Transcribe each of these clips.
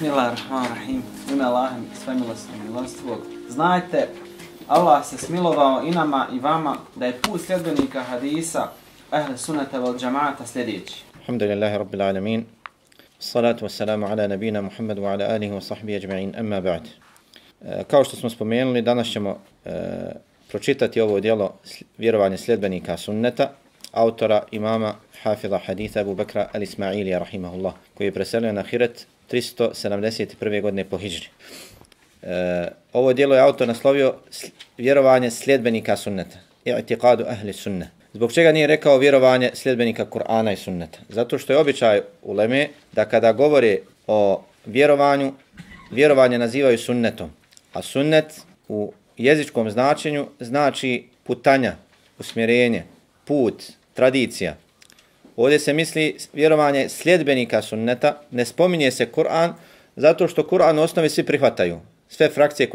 Bismillahirrahmanirrahim. Ime Allaha svemilosnog i milostivog. Znajte, Allah se smilovao i nama i vama da je put sljedbenika hadisa Ahl sunnata wal džamaata sljedeći. Alhamdulillahi rabbil alamin. Salatu wassalamu ala nabina Muhammadu wa ala alihi wa sahbihi ajma'in, amma ba'd. Kao što smo spomenuli, danas ćemo pročitati ovo djelo Vjerovanje sljedbenika sunneta, autora imama Hafiza haditha Abu Bakra al-Ismailija rahimahullah, koji je preselio na Ahiret 371. godine po hidžri. Ovo djelo je autor naslovio Vjerovanje sljedbenika sunneta, i'tiqadu ahli sunne. Zbog čega nije rekao vjerovanje sljedbenika Kur'ana i sunneta? Zato što je običaj uleme da kada govore o vjerovanju, vjerovanje nazivaju sunnetom. A sunnet u jezičkom značenju znači putanja, usmjerenje, put, tradicija. Ovdje se misli vjerovanje sljedbenika sunneta, ne spominje se Kur'an, zato što Kur'an u osnovi svi prihvataju. Sve frakcije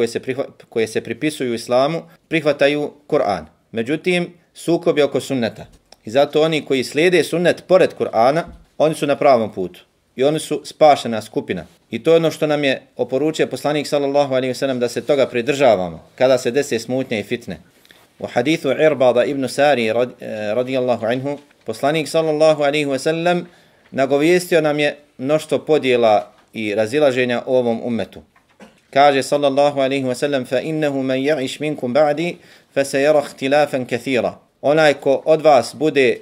koje se pripisuju islamu prihvataju Kur'an. Međutim, sukob je oko sunneta. I zato oni koji slijede sunnet pored Kur'ana, oni su na pravom putu. I oni su spašena skupina. I to je ono što nam je oporučio poslanik sallallahu alejhi ve sellem da se toga pridržavamo kada se dese smutnje i fitne. U hadithu Irbada ibn Sari radijallahu anhu, poslanik sallallahu alejhi ve sellem nagovijestio nam je mnoštvo podjela i razilaženja u ovom ummetu. Kaže sallallahu alejhi ve sellem: "Fa innahu man ya'ish minkum ba'di fa sayara ikhtilafan kathira." Onaj ko od vas bude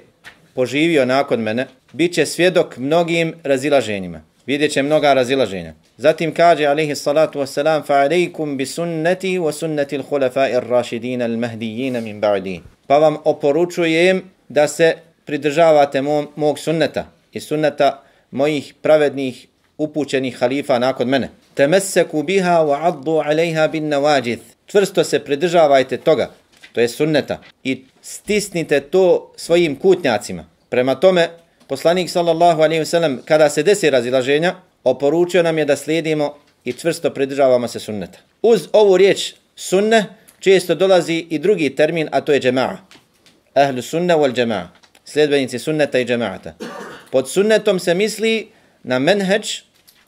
poživio nakon mene, biće svjedok mnogim razilaženjima. Vidjet će mnoga razilaženja. Zatim kaže alejhi salatu vesselam: "Fa alejkum bi sunnati wa sunnati al-khulafa'i ar-rashidin al-mahdiyyin min ba'di." Pa vam oporučujem da se pridržavate mog sunneta i sunneta mojih pravednih upućenih halifa nakon mene. Tamassaku biha wa 'addu 'alayha bin nawajid. Čvrsto se pridržavajte toga, to je sunneta, i stisnite to svojim kutnjacima. Prema tome, poslanik sallallahu alejhi ve sellem kada se desi razilaženja, oporučio nam je da slijedimo i čvrsto pridržavamo se sunneta. Uz ovu riječ sunne često dolazi i drugi termin, a to je džema'a. Ahlu sunne wal džema'a. Sljedbenici sunneta i džema'ata. Pod sunnetom se misli na menheđ,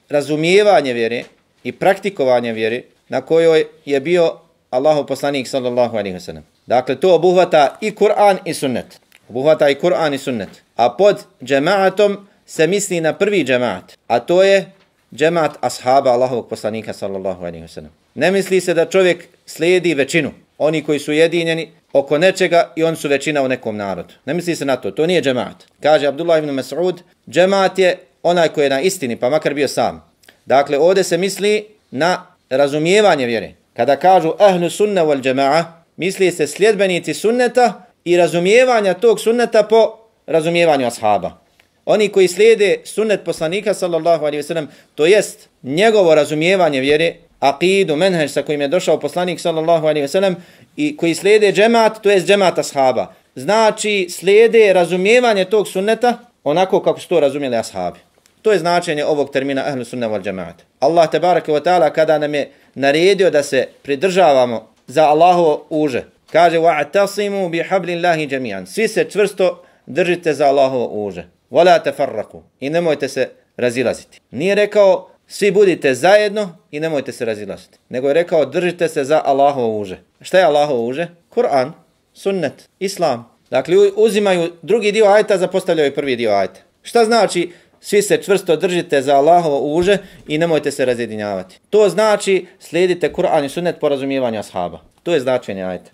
razumijevanje vjere i praktikovanje vjere na kojoj je bio Allahov poslanik sallallahu alejhi ve sellem. Dakle, to obuhvata i Kur'an i sunnet. Obuhvata i Kur'an i sunnet. A pod džema'atom se misli na prvi džema'at, a to je džema'at ashaba Allahovog poslanika sallallahu alejhi ve sellem. Ne misli se da čovjek slijedi većinu, oni koji su jedinjeni oko nečega i on su većina u nekom narodu. Ne misli se na to, to nije džema'at. Kaže Abdullah ibn Mas'ud, džema'at je onaj koji je na istini, pa makar bio sam. Dakle, ovdje se misli na razumijevanje vjere. Kada kažu ahlu sunna wal džema'a, misli se sljedbenici sunneta i razumijevanja tog sunneta po razumijevanju ashaba. Oni koji slijede sunnet poslanika sallallahu alejhi ve sellem, to jest njegovo razumijevanje vjere, aqidu, menheđ sa kojim je došao poslanik sallallahu alejhi ve sellem, i koji slijede džemat, to jest džemat ashaba. Znači, slijede razumijevanje tog sunneta onako kako su to razumjeli ashabi. To je značenje ovog termina ahlu sunna wal džemaat. Allah tebareke ve taala kada nam je naredio da se pridržavamo za Allahovo uže, kaže wa'tasimu bihablillahi jami'an. Svi se čvrsto držite za Allahovo uže. Wala tafarraqu. I nemojte se razilaziti. Nije rekao svi budite zajedno i nemojte se razilaziti. Nego je rekao držite se za Allahovo uže. Šta je Allahovo uže? Kur'an, sunnet, islam. Dakle, uzimaju drugi dio ajeta, zapostavljaju prvi dio ajeta. Šta znači svi se čvrsto držite za Allahovo uže i nemojte se razjedinjavati? To znači slijedite Kur'an i sunnet po razumijevanju ashaba. To je značenje ajeta.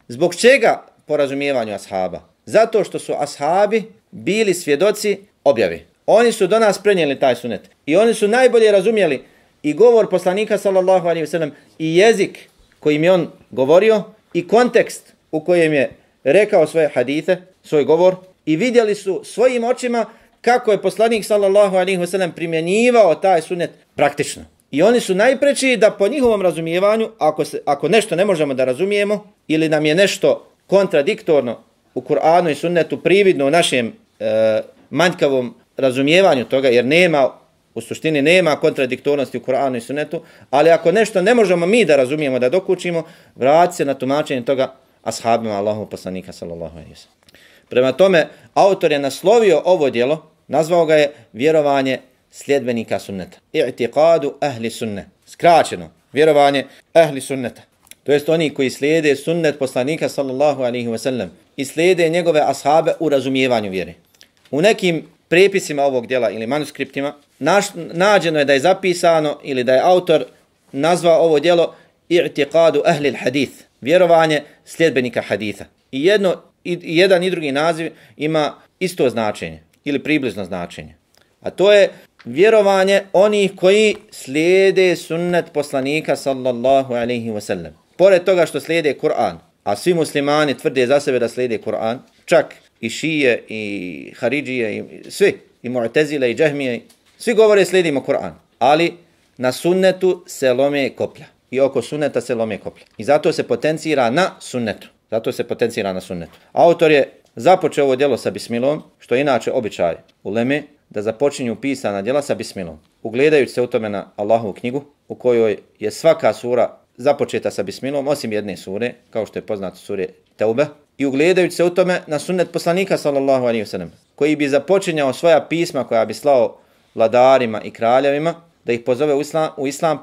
Zbog čega po razumijevanju ashaba? Zato što su ashabi bili svjedoci objave. Oni su do nas prenijeli taj sunnet. I oni su najbolje razumjeli i govor poslanika sallallahu alejhi ve sellem i jezik kojim je on govorio i kontekst u kojem je rekao svoje hadise, svoj govor, i vidjeli su svojim očima kako je poslanik sallallahu alejhi ve sellem primjenjivao taj sunnet praktično. I oni su najpreči da po njihovom razumijevanju, ako nešto ne možemo da razumijemo ili nam je nešto kontradiktorno u Kur'anu i sunnetu, prividno u našem manjkavom razumijevanju toga, jer u suštini nema kontradiktornosti u Kur'anu i sunnetu, ali ako nešto ne možemo mi da razumijemo, da dokučimo, vrati se na tumačenje toga ashabima Allahovog poslanika sallallahu alejhi ve sellem. Prema tome, autor je naslovio ovo djelo, nazvao ga je Vjerovanje sljedbenika sunneta. I'tiqadu ahli sunne. Skraćeno, vjerovanje ahli sunneta. To jest oni koji slijede sunnet poslanika sallallahu alaihi wa sallam i slijede njegove ashabe u razumijevanju vjere. U nekim prepisima ovog djela ili manuskriptima nađeno je da je zapisano ili da je autor nazvao ovo djelo i'tiqadu ahli al-hadith, vjerovanje sljedbenika haditha. I jedan i drugi naziv ima isto značenje ili približno značenje. A to je vjerovanje onih koji slijede sunnet poslanika sallallahu alaihi wa sallam. Pored toga što slijede Kur'an, a svi muslimani tvrde za sebe da slijede Kur'an, čak i šije, i haridžije, i svi, i mu'tezile, i džahmije, svi govore slijedimo Kur'an, ali na sunnetu se lome koplja. I oko sunneta se lome koplja. I zato se potencira na sunnetu. Autor je započeo ovo djelo sa bismilom, što je inače običaj uleme, da započinju pisana djela sa bismilom. Ugledajući se u tome na Allahovu knjigu, u kojoj je svaka sura započeta sa bismilom, osim jedne sure, kao što je poznato sure Teube, i ugledajući se u tome na sunnet poslanika sallallahu alaihi wa sallam, koji bi započinjao svoja pisma koja bi slao vladarima i kraljevima, da ih pozove u islam,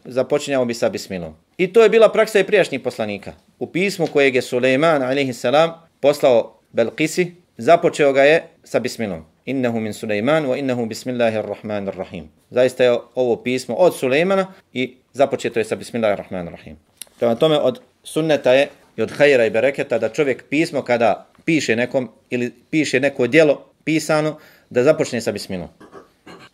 započinjao bi sa bismilom. I to je bila praksa i prijašnjih poslanika. U pismu kojeg je Sulejman alaihi salam poslao Belkisi, započeo ga je sa bismilom. Innehu min Sulejman wa innehu bismillahirrahmanirrahim. Zaista je ovo pismo od Sulejmana i započeto je sa bismillahirrahmanirrahim. Prema tome od sunneta je i od hajra i bereketa da čovjek pismo kada piše nekom ili piše neko djelo pisano da započne sa bismilom.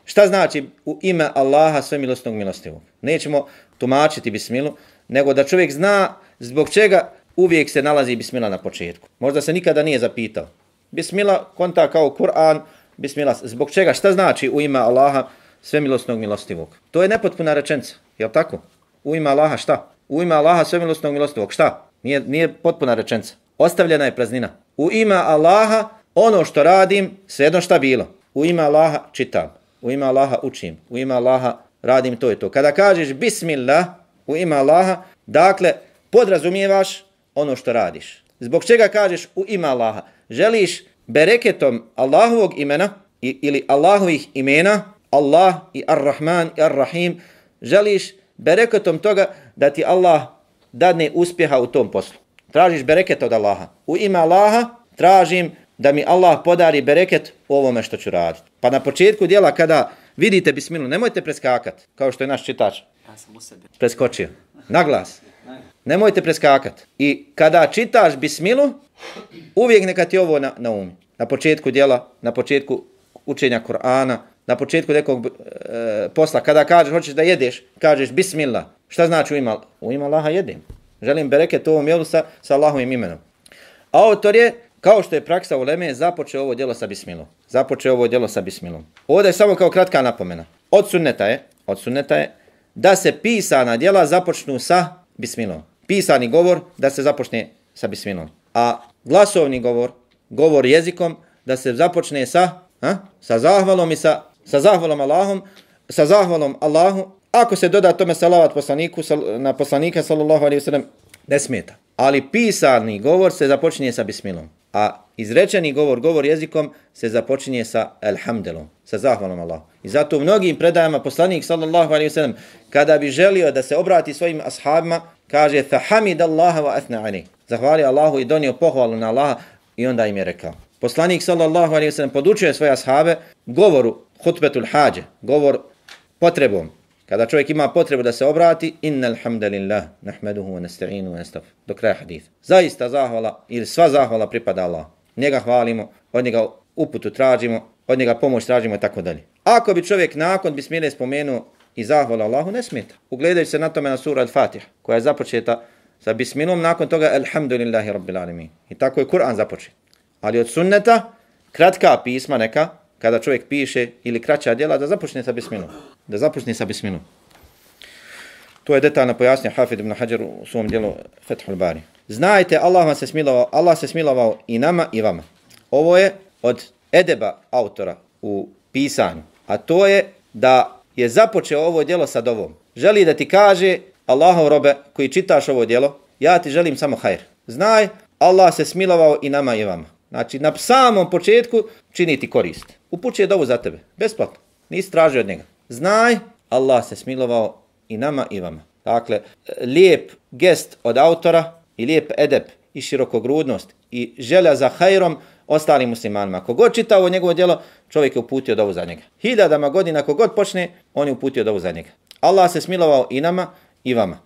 Šta znači u ime Allaha svemilosnog milostivog? Nećemo tumačiti bismilu, nego da čovjek zna zbog čega uvijek se nalazi bismila na početku. Možda se nikada nije zapitao. Bismila konta kao Kur'an, bismila zbog čega? Šta znači u ime Allaha svemilosnog milostivog? To je nepotpuna rečenica, jel tako? U ime Allaha šta? U ime Allaha svemilosnog milostivog šta? Nije potpuna rečenica. Ostavljena je praznina. U ime Allaha ono što radim, svejedno šta bilo. U ime Allaha čitam. U ime Allaha učim. U ime Allaha radim to i to. Kada kažeš bismillah u ime Allaha, dakle podrazumijevaš ono što radiš. Zbog čega kažeš u ime Allaha? Želiš bereketom Allahovog imena ili Allahovih imena, Allah i Ar-Rahman i Ar-Rahim, želiš bereketom toga da ti Allah dadne uspjeha u tom poslu. Tražiš bereket od Allaha. U ime Allaha tražim da mi Allah podari bereket u ovome što ću raditi. Pa na početku djela kada vidite bismilu, nemojte preskakati, kao što je naš čitač. Ja sam u sebi preskočio. Na glas. Nemojte preskakati. I kada čitaš bismilu, uvijek neka ti ovo na umi. Na početku djela, na početku učenja Kur'ana, na početku nekog posla. Kada kažeš, hoćeš da jedeš, kažeš bismillah. Šta znači u ime? U ime Allaha jedem. Želim bereket u ovom jelu sa Allahovim imenom. Autor je, kao što je praksa uleme, započeo ovo djelo sa bismilom. Ovdje je samo kao kratka napomena. Od sunneta je da se pisana djela započnu sa bismilom. Pisani govor da se započne sa bismilom. A glasovni govor jezikom da se započne sa zahvalom i sa zahvalom Allahom, sa zahvalom Allahu. Ako se doda tome salavat na poslanika sallallahu alejhi ve sellem, ne smeta. Ali pisani govor se započinje sa bismilom. A izrečeni govor jezikom se započinje sa elhamdelom, sa zahvalom Allahu. I zato u mnogim predajama poslanik sallallahu alejhi ve sellem kada bi želio da se obrati svojim ashabima, kaže fahamidallaha wa athna alayhi. Zahvalio Allahu i donio pohvalu na Allaha i onda im je rekao. Poslanik sallallahu alejhi ve sellem podučio svoje ashabe govoru hutbetul hađe, govor potrebom. Kada čovjek ima potrebu da se obrati, innal hamdalillah nahmaduhu wa nasta'inu wa nastaghfiruh. Do kraja hadisa. Zaista zahvala ili sva zahvala pripada Allahu. Njega hvalimo, od njega uputu tražimo, od njega pomoć tražimo i tako dalje. Ako bi čovjek nakon bismile spomenuo i zahvala Allahu, ne smeta. Ugledajući se na tome na sura Al-Fatiha, koja je započeta sa bismilom, nakon toga alhamdulillahi rabbil alamin. I tako je Kur'an započet. Ali od sunneta, kratka pisma neka, kada čovjek piše ili kraća djela, da započne sa bismilom. To je detaljno pojasnio Hafid ibn Hajar u svom djelu Fethul Bari. Znajte, Allah se smilovao i nama i vama. Ovo je od edeba autora u pisanju, a to je da je započeo ovo djelo sa dovom. Želi da ti kaže, Allahov robe koji čitaš ovo djelo, ja ti želim samo hajr. Znaj, Allah se smilovao i nama i vama. Znači, na samom početku čini ti korist. Upućuje dovu za tebe, besplatno. Nisi tražio od njega. Znaj, Allah se smilovao i nama i vama. Dakle, lijep gest od autora i lijep edep i širokogrudnost i želja za hajrom ostalim muslimanima. Kogod čita ovo njegovo djelo, čovjek je uputio dovu za njega. Hiljadama godina kogod počne, on je uputio dovu za njega. Allah se smilovao i nama i vama.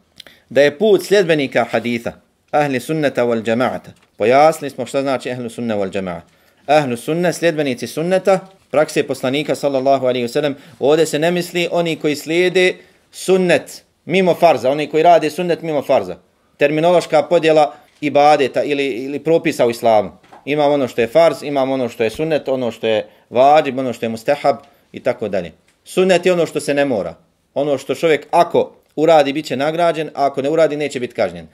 Da je put sljedbenika haditha, ahli sunneta wal džemaata. Pojasnili smo šta znači ahli sunne wal džemaat. Ahli sunne, sljedbenici sunneta, prakse poslanika sallallahu alaihi wasallam. Ovdje se ne misli oni koji slijede sunnet mimo farza, oni koji rade sunnet mimo farza. Terminološka podjela ibadeta ili propisa u islamu. Imamo ono što je farz, imamo ono što je sunnet, ono što je vađib, ono što je mustahab i tako dalje. Sunnet je ono što se ne mora. Ono što čovjek ako uradi bit će nagrađen, a ako ne uradi neće biti kažnjen.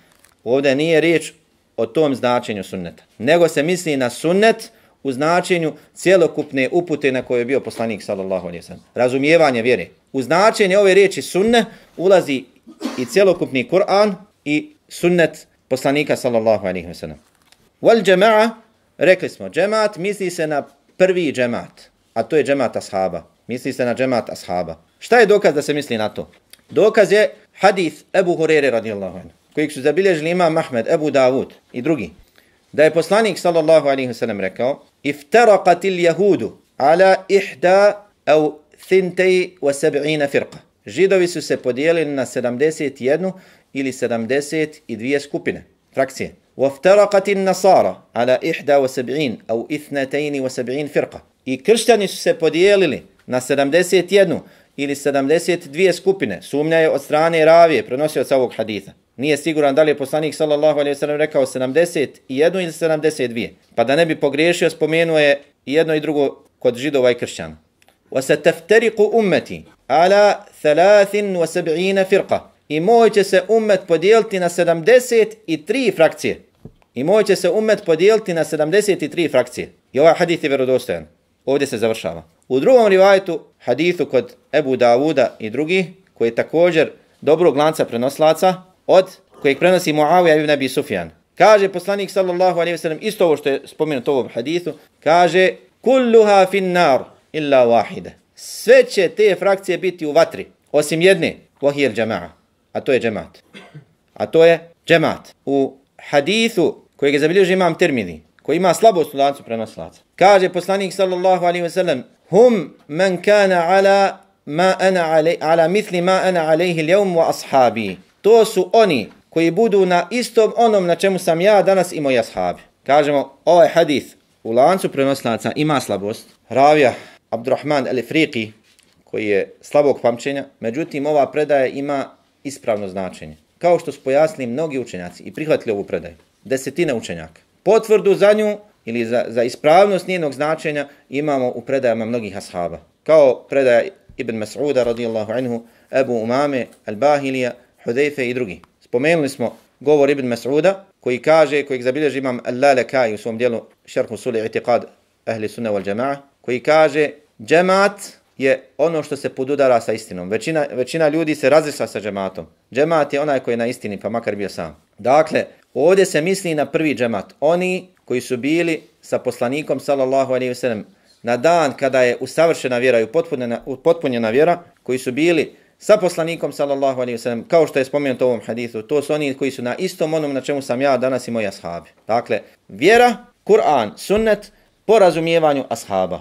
Ovdje nije riječ o tom značenju sunneta. Nego se misli na sunnet u značenju cjelokupne upute na koje je bio poslanik sallallahu alejhi ve sellem. Razumijevanje vjere. U značenje ove riječi sunne ulazi i cjelokupni Kur'an i sunnet poslanika sallallahu alejhi ve sellem. Wal džema'a, rekli smo, džemaat misli se na prvi džemaat, a to je džemaat ashaba. Misli se na džemaat ashaba. Šta je dokaz da se misli na to? Dokaz je hadith Ebu Hurere radijallahu anhu, kojeg su zabilježili imam Ahmed, Ebu Davud i drugi. Da je poslanik sallallahu alejhi ve sellem rekao: "Iftaraqatil yahudu ala ihda aw 72 firqa." Židovi su se podijelili na 71 ili 72 skupine, frakcije. "Waftaraqatin nasara ala 71 aw 72 firqa." I kršćani su se podijelili na 71 ili 72 skupine. Sumnja je od strane ravije, prenosioca ovog haditha. Nije siguran da li je poslanik sallallahu alejhi ve sellem rekao 71 ili 72. Pa da ne bi pogriješio, spomenuo je i jedno i drugo kod židova i kršćana. وَسَتَفْتَرِقُ أُمَّتِي عَلَى 73 فِرْقَ. I moj će se ummet podijeliti na 73 frakcije. I moj će se ummet podijeliti na 73 frakcije. I ovaj hadith je vjerodostojan. Ovdje se završava. U drugom rivajetu, hadithu kod Ebu Davuda i drugi, koji je također dobrog lanca prenoslaca, od kojeg prenosi Muavija ibn Abi Sufjan. Kaže poslanik sallallahu alejhi ve sellem isto ovo što je spomenuto u ovom hadithu, kaže: "Kulluha fin nar illa wahida." Sve će te frakcije biti u vatri, osim jedne, wahiyal džema'a, a to je džemaat. A to je džemaat. U hadithu kojeg je zabilježio imam Tirmidhi, koji ima slabost u lancu prenoslaca, kaže poslanik sallallahu alejhi ve sellem: "Hum man kana ala mithli ma ana alayhi al-yawm wa ashabi." To su oni koji budu na istom onom na čemu sam ja danas i moji ashabi. Kažemo, ovaj hadith u lancu prenoslaca ima slabost. Ravija Abdurrahman al-Ifriqi, koji je slabog pamćenja, međutim ova predaja ima ispravno značenje. Kao što su pojasnili mnogi učenjaci i prihvatili ovu predaju. Desetine učenjaka. Potvrdu za nju ili za ispravnost njenog značenja imamo u predajama mnogih ashaba. Kao predaja Ibn Mas'uda radijallahu anhu, Ebu Umame, Al-Bahilija, Hudejfe i drugi. Spomenuli smo govor Ibn Mas'uda koji kaže, kojeg zabilježi imam Al-Lalekai u svom dijelu Šerh Usuli I'tiqad Ahli Sunna wal Džema'a, koji kaže: "Džemaat je ono što se podudara sa istinom. Većina ljudi se razišla sa džematom. Džemaat je onaj koji je na istini, pa makar bio sam." Dakle, ovdje se misli na prvi džemaat. Oni koji su bili sa poslanikom sallallahu alejhi ve sellem na dan kada je usavršena vjera i upotpunjena vjera, koji su bili sa poslanikom sallallahu alejhi ve sellem, kao što je spomenuto u ovom hadithu, to su oni koji su na istom onom na čemu sam ja danas i moji ashabi. Dakle, vjera, Kur'an, sunnet po razumijevanju ashaba.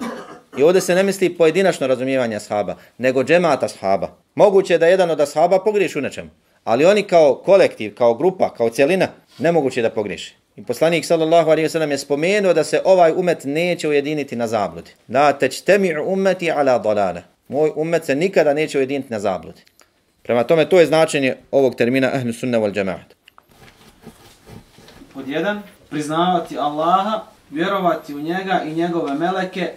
I ovdje se ne misli pojedinačno razumijevanje ashaba, nego džemaat ashaba. Moguće je da jedan od ashaba pogriješi u nečemu, ali oni kao kolektiv, kao grupa, kao cjelina, nemoguće da pogriješi. I poslanik sallallahu alejhi ve sellem je spomenuo da se ovaj umet neće ujediniti na zabludi. La tajtami'u ummati ala dalala. Moj ummet se nikada neće ujediniti na zabludi. Prema tome, to je značenje ovog termina ahlu sunna wal džemaat. Pod 1. Priznavati Allaha, vjerovati u njega i njegove meleke,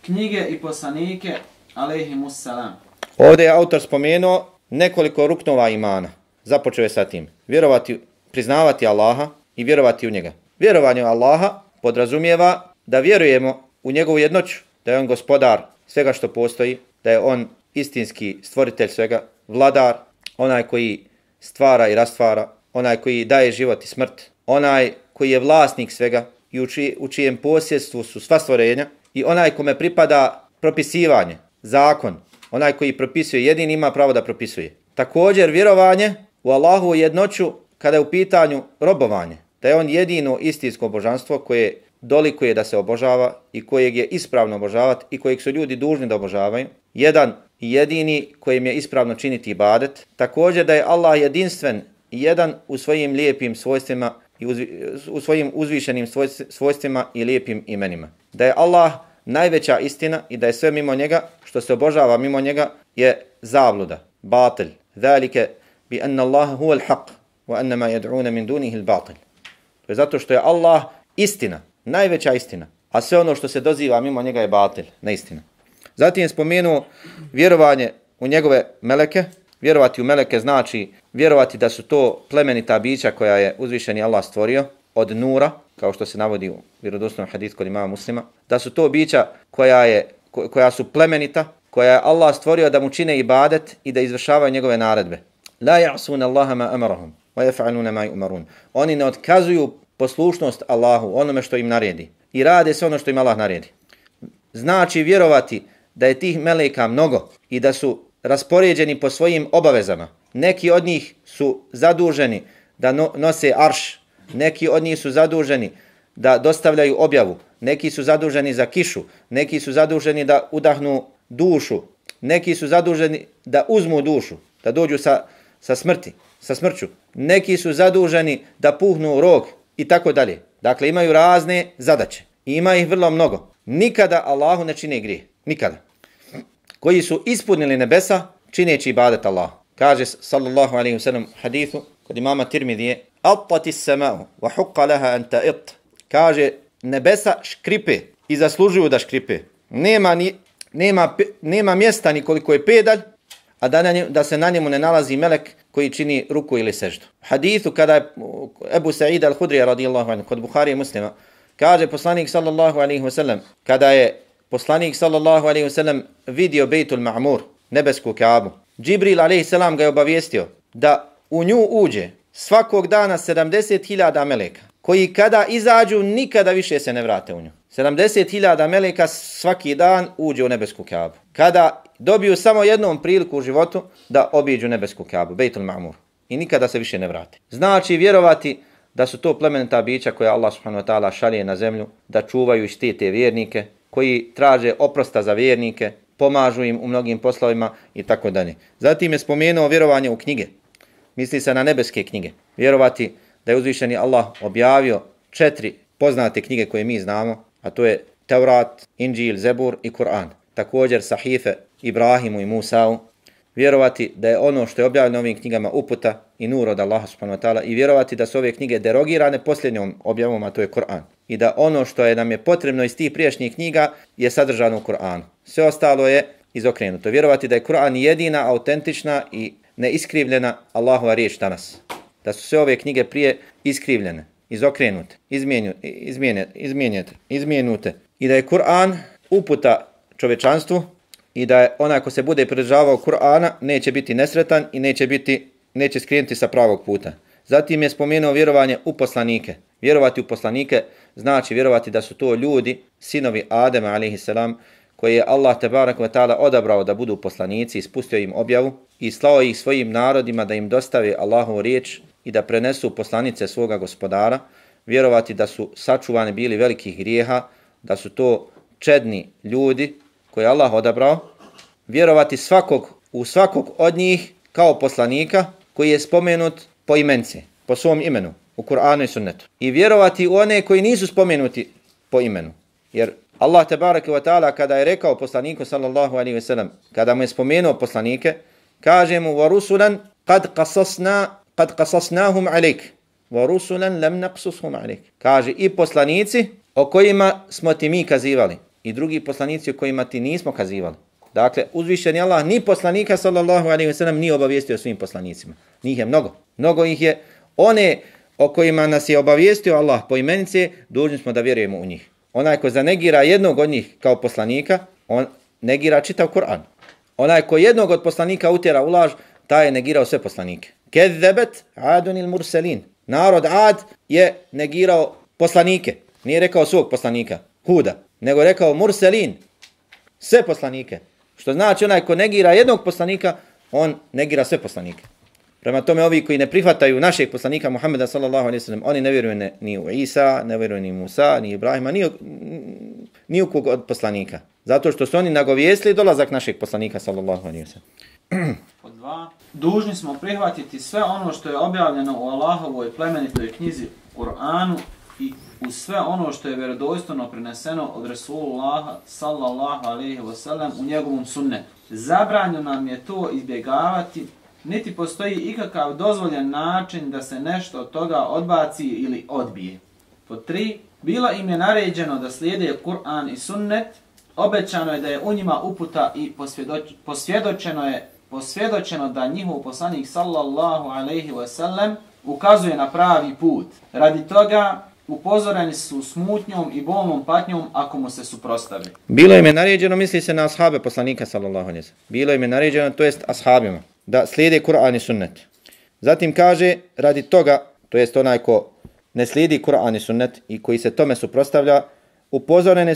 knjige i poslanike, alejhimussalam. Ovdje je autor spomenuo nekoliko ruknova imana. Započeo je sa tim. Priznavati Allaha i vjerovati u njega. Vjerovanje u Allaha podrazumijeva da vjerujemo u njegovu jednoću, da je on gospodar svega što postoji, da je on istinski stvoritelj svega, vladar, onaj koji stvara i rastvara, onaj koji daje život i smrt, onaj koji je vlasnik svega i u čijem posjedstvu su sva stvorenja, i onaj kome pripada propisivanje, zakon, Onaj koji propisuje jedini ima pravo da propisuje. Također vjerovanje u Allahovu jednoću kada je u pitanju robovanje. Da je on jedino istinsko božanstvo koje dolikuje da se obožava i kojeg je ispravno obožavati i kojeg su ljudi dužni da obožavaju. Jedan i jedini kojim je ispravno činiti ibadet. Također da je Allah jedinstven i jedan u svojim lijepim svojstvima i u svojim uzvišenim svojstvima i lijepim imenima. Da je Allah najveća istina i da je sve mimo njega, što se obožava mimo njega, je zabluda, batil. Zalike bi anna Allaha huwa al-haq wa anna ma yad'una min dunihi al-batil. To je zato što je Allah istina, najveća istina, a sve ono što se doziva mimo njega je batil, neistina. Zatim je spomenuo vjerovanje u njegove meleke. Vjerovati u meleke znači vjerovati da su to plemenita bića koja je uzvišeni Allah stvorio od nura, kao što se navodi u vjerodostojnom hadisu kod imama Muslima, da su to bića koja su plemenita, koja je Allah stvorio da mu čine ibadet i da izvršavaju njegove naredbe. La ya'suna Allaha ma amarahum wa yaf'aluna ma yu'marun. Oni ne otkazuju poslušnost Allahu, onome što im naredi, i rade sve ono što im Allah naredi. Znači vjerovati da je tih meleka mnogo i da su raspoređeni po svojim obavezama. Neki od njih su zaduženi da nose arš, neki od njih su zaduženi da dostavljaju objavu, neki su zaduženi za kišu, neki su zaduženi da udahnu dušu, neki su zaduženi da uzmu dušu, da dođu sa smrću, neki su zaduženi da puhnu rog i tako dalje. Dakle, imaju razne zadaće i ima ih vrlo mnogo. Nikada Allahu ne čine grijeh, nikada. Koji su ispunili nebesa čineći ibadet Allah. Kaže sallallahu alejhi ve sellem hadithu kod imama Tirmidije: "Attati as-sama'u wa haqqa laha an ta'it." Kaže nebesa škripe i zaslužuju da škripe. Nema mjesta ni koliko je pedalj, a da se na njemu ne nalazi melek koji čini ruku ili seždu. Hadithu kada je Ebu Sa'id al-Hudri radijallahu anhu kod Buhari i Muslima, kaže poslanik sallallahu alejhi ve sellem, kada je poslanik sallallahu alejhi ve sellem vidio Bejtul Ma'mur, nebesku Kaabu, Džibril alejhi selam ga je obavijestio da u nju uđe svakog dana 70.000 meleka, koji kada izađu nikada više se ne vrate u nju. 70.000 meleka svaki dan uđe u nebesku Kaabu. Kada dobiju samo jednom priliku u životu da obiđu nebesku Kaabu, Bejtul Ma'mur, i nikada se više ne vrate. Znači vjerovati da su to plemenita bića koja Allah subhanahu wa ta'ala šalje na zemlju, da čuvaju i štite vjernike, koji traže oprosta za vjernike, pomažu im u mnogim poslovima i tako dalje. Zatim je spomenuo vjerovanje u knjige. Misli se na nebeske knjige. Vjerovati da je uzvišeni Allah objavio 4 poznate knjige koje mi znamo, a to je Tevrat, Inđil, Zebur i Kur'an. Također sahife Ibrahimu i Musa'u. Vjerovati da je ono što je objavljeno ovim knjigama uputa i nur od Allaha subhanahu wa ta'ala, i vjerovati da su ove knjige derogirane posljednjom objavom, a to je Kur'an. I da ono što nam je potrebno iz tih prijašnjih knjiga je sadržano u Kur'anu. Sve ostalo je izokrenuto. Vjerovati da je Kur'an jedina, autentična i neiskrivljena Allahova riječ danas. Da su sve ove knjige prije iskrivljene, izokrenute, izmijenute. I da je Kur'an uputa čovječanstvu i da je onaj ko se bude pridržavao Kur'ana neće biti nesretan i neće skrenuti sa pravog puta. Zatim je spomenuo vjerovanje u poslanike. Vjerovati u poslanike znači vjerovati da su to ljudi, sinovi Adema a.s. koje je Allah tebarek ve ta'ala odabrao da budu poslanici i spustio im objavu i slao ih svojim narodima da im dostave Allahovu riječ i da prenesu poslanice svoga gospodara. Vjerovati da su sačuvani bili velikih grijeha, da su to čedni ljudi koje je Allah odabrao. Vjerovati u svakog od njih kao poslanika koji je spomenut po imence, po svom imenu, u Kur'anu i sunnetu. I vjerovati u one koji nisu spomenuti po imenu. Jer Allah tebareke ve ta'ala kada je rekao poslaniku sallallahu alejhi ve sellem, kada mu je spomenuo poslanike, kaže mu: "Wa rusulan qad qasasnahum alejk, wa rusulan lam naqsushum alejk." Kaže i poslanici o kojima smo ti mi kazivali i drugi poslanici o kojima ti nismo kazivali. Dakle, uzvišeni Allah ni poslanika sallallahu alejhi ve sellem nije obavijestio svim poslanicima. Njih je mnogo. Mnogo ih je. One o kojima nas je obavijestio Allah po imenice, dužni smo da vjerujemo u njih. Onaj ko zanegira jednog od njih kao poslanika, on negira čitav Kur'an. Onaj ko jednog od poslanika utjera u laž, taj je negirao sve poslanike. Kezebet Adun il Murselin. Narod Ad je negirao poslanike. Nije rekao svog poslanika, Huda, nego rekao Murselin, sve poslanike. Što znači onaj ko negira jednog poslanika, on negira sve poslanike. Prema tome ovi koji ne prihvataju našeg poslanika Muhammeda sallallahu alejhi ve sellem, oni ne vjeruju ni u Isa, ne vjeruju ni Musa, ni Ibrahima, ni u kog od poslanika. Zato što su oni nagovijestili dolazak našeg poslanika sallallahu alejhi ve sellem. Pod 2. Dužni smo prihvatiti sve ono što je objavljeno u Allahovoj plemenitoj knjizi Kur'anu i uz sve ono što je vjerodostojno preneseno od Resulullaha sallallahu alejhi ve sellem u njegovom sunnetu. Zabranjeno nam je to izbjegavati, niti postoji ikakav dozvoljen način da se nešto od toga odbaci ili odbije. Pod 3. Bilo im je naređeno da slijede Kur'an i sunnet, obećano je da je u njima uputa i posvjedočeno da njihov poslanik sallallahu alejhi ve sellem ukazuje na pravi put. Radi toga upozoreni su smutnjom i bolnom patnjom ako mu se suprotstave. Bilo im je naređeno, misli se na ashabe poslanika sallallahu alejhi ve sellem. Bilo im je naređeno, to jest ashabima, da slijede Kur'an i sunnet. Zatim kaže, radi toga, to jest onaj ko ne slijedi Kur'an i sunnet i koji se tome suprotstavlja, upozoreni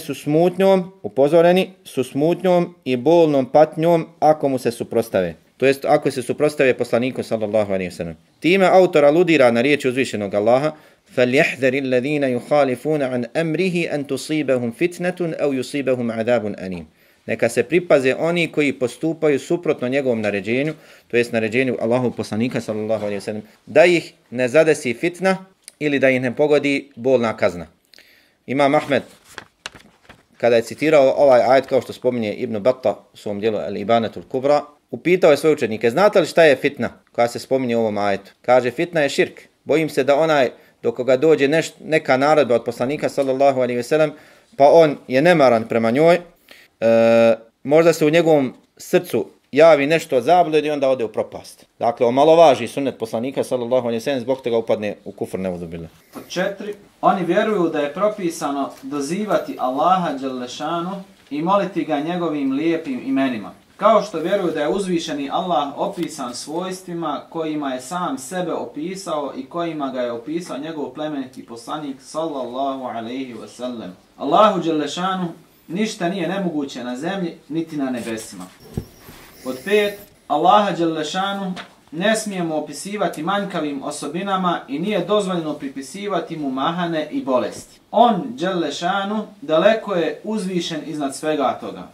su smutnjom i bolnom patnjom ako mu se suprotstave. To jest ako se suprotstave poslaniku sallallahu alejhi ve sellem. Time autor aludira na riječ uzvišenog Allaha: فَلْيَحْذَرِ الَّذِينَ يُخَالِفُونَ عَنْ أَمْرِهِ أَنْ تُصِيبَهُمْ فِتْنَةٌ أَوْ يُصِيبَهُمْ عَذَابٌ أَلِيمٌ. Neka se pripaze oni koji postupaju suprotno njegovom naređenju, to jest naređenju Allahovog poslanika sallallahu alejhi ve sellem, da ih ne zadesi fitna ili da ih ne pogodi bolna kazna. Imam Ahmed, kada je citirao ovaj ajet, kao što spominje Ibn Battah u svom dijelu Al-Ibanatul Kubra, upitao je svoje učenike: znate li šta je fitna koja se spominje u ovom ajetu? Kaže, fitna je širk. Bojim se da onaj do koga dođe neka naredba od poslanika sallallahu alejhi ve sellem, pa on je nemaran prema njoj, možda se u njegovom srcu javi nešto od zablude i onda ode u propast. Dakle, omalovaži sunnet poslanika sallallahu alejhi ve sellem, zbog toga upadne u kufr, neudzubillah. Pod 4. Oni vjeruju da je propisano dozivati Allaha dželle šanu i moliti ga njegovim lijepim imenima. Kao što vjeruju da je uzvišeni Allah opisan svojstvima kojima je sam sebe opisao i kojima ga je opisao njegov plemeniti poslanik sallallahu alejhi ve sellem. Allahu dželle šanu ništa nije nemoguće na zemlji niti na nebesima. Pod 5. Allaha dželle šanu ne smijemo opisivati manjkavim osobinama i nije dozvoljeno pripisivati mu mahane i bolesti. On dželle šanu daleko je uzvišen iznad svega toga.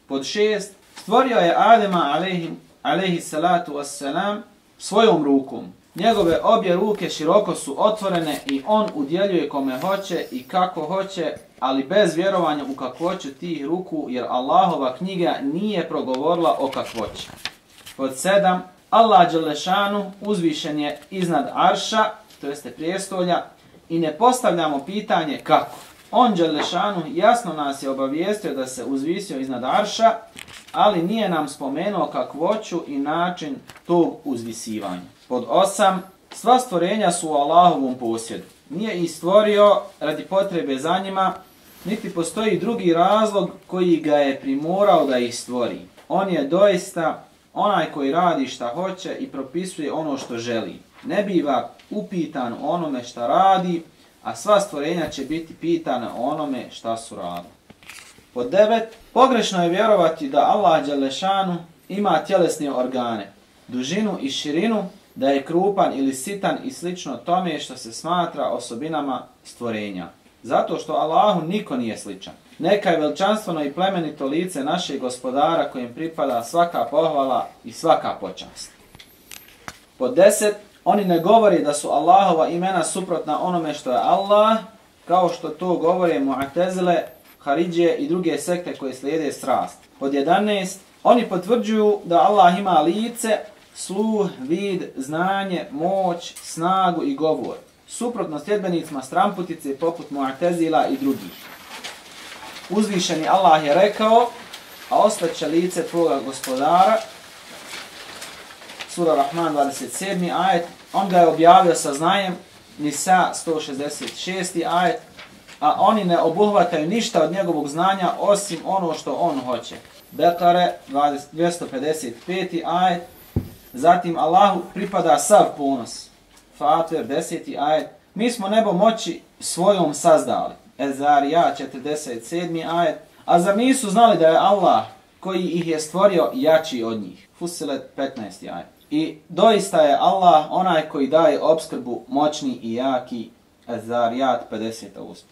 Pod 6. Stvorio je Adema alejhi salatu wassalam svojom rukom. Njegove obje ruke široko su otvorene i on udjeljuje kome hoće i kako hoće, ali bez vjerovanja u kakvoću tih ruku, jer Allahova knjiga nije progovorila o kakvoći. Pod 7. Allah dželle šanu uzvišen je iznad arša, to jeste prijestolja, i ne postavljamo pitanje kako. On dželle šanu jasno nas je obavijestio da se uzvisio iznad arša, ali nije nam spomenuo kakvoću i način tog uzvisivanja. Pod 8. Sva stvorenja su u Allahovom posjedu. Nije ih stvorio radi potrebe za njima, niti postoji drugi razlog koji ga je primorao da ih stvori. On je doista onaj koji radi šta hoće i propisuje ono što želi. Ne biva upitan o onome šta radi, a sva stvorenja će biti pitana o onome šta su radili. Pod 9. Pogrešno je vjerovati da Allah dželle šanu ima tjelesne organe, dužinu i širinu, da je krupan ili sitan i slično tome što se smatra osobinama stvorenja. Zato što Allahu niko nije sličan. Neka je veličanstveno i plemenito lice našeg gospodara kojem pripada svaka pohvala i svaka počast. Pod 10. Oni ne govori da su Allahova imena suprotna onome što je Allah, kao što to govore Mu'tezile, Haridžije i druge sekte koje slijede strast. Pod 11. Oni potvrđuju da Allah ima lice, sluh, vid, znanje, moć, snagu i govor. Suprotno sljedbenicima stramputice poput Mu'tezila i drugih. Uzvišeni Allah je rekao: a osveće lice tvoga gospodara, sura Rahman 27. ajet, on ga je objavio sa znajem, Nisa 166. ajet, a oni ne obuhvataju ništa od njegovog znanja osim ono što on hoće. Bekare 255. ajet, zatim Allahu pripada sav ponos. Fatir 10. ajet, mi smo nebo moći svojom sazdali. Ezarija 47. ajet, a zar nisu znali da je Allah koji ih je stvorio jači od njih. Fussilet 15. ajet. I doista je Allah onaj koji daje opskrbu moćni i jaki. Az-Zariyat 50.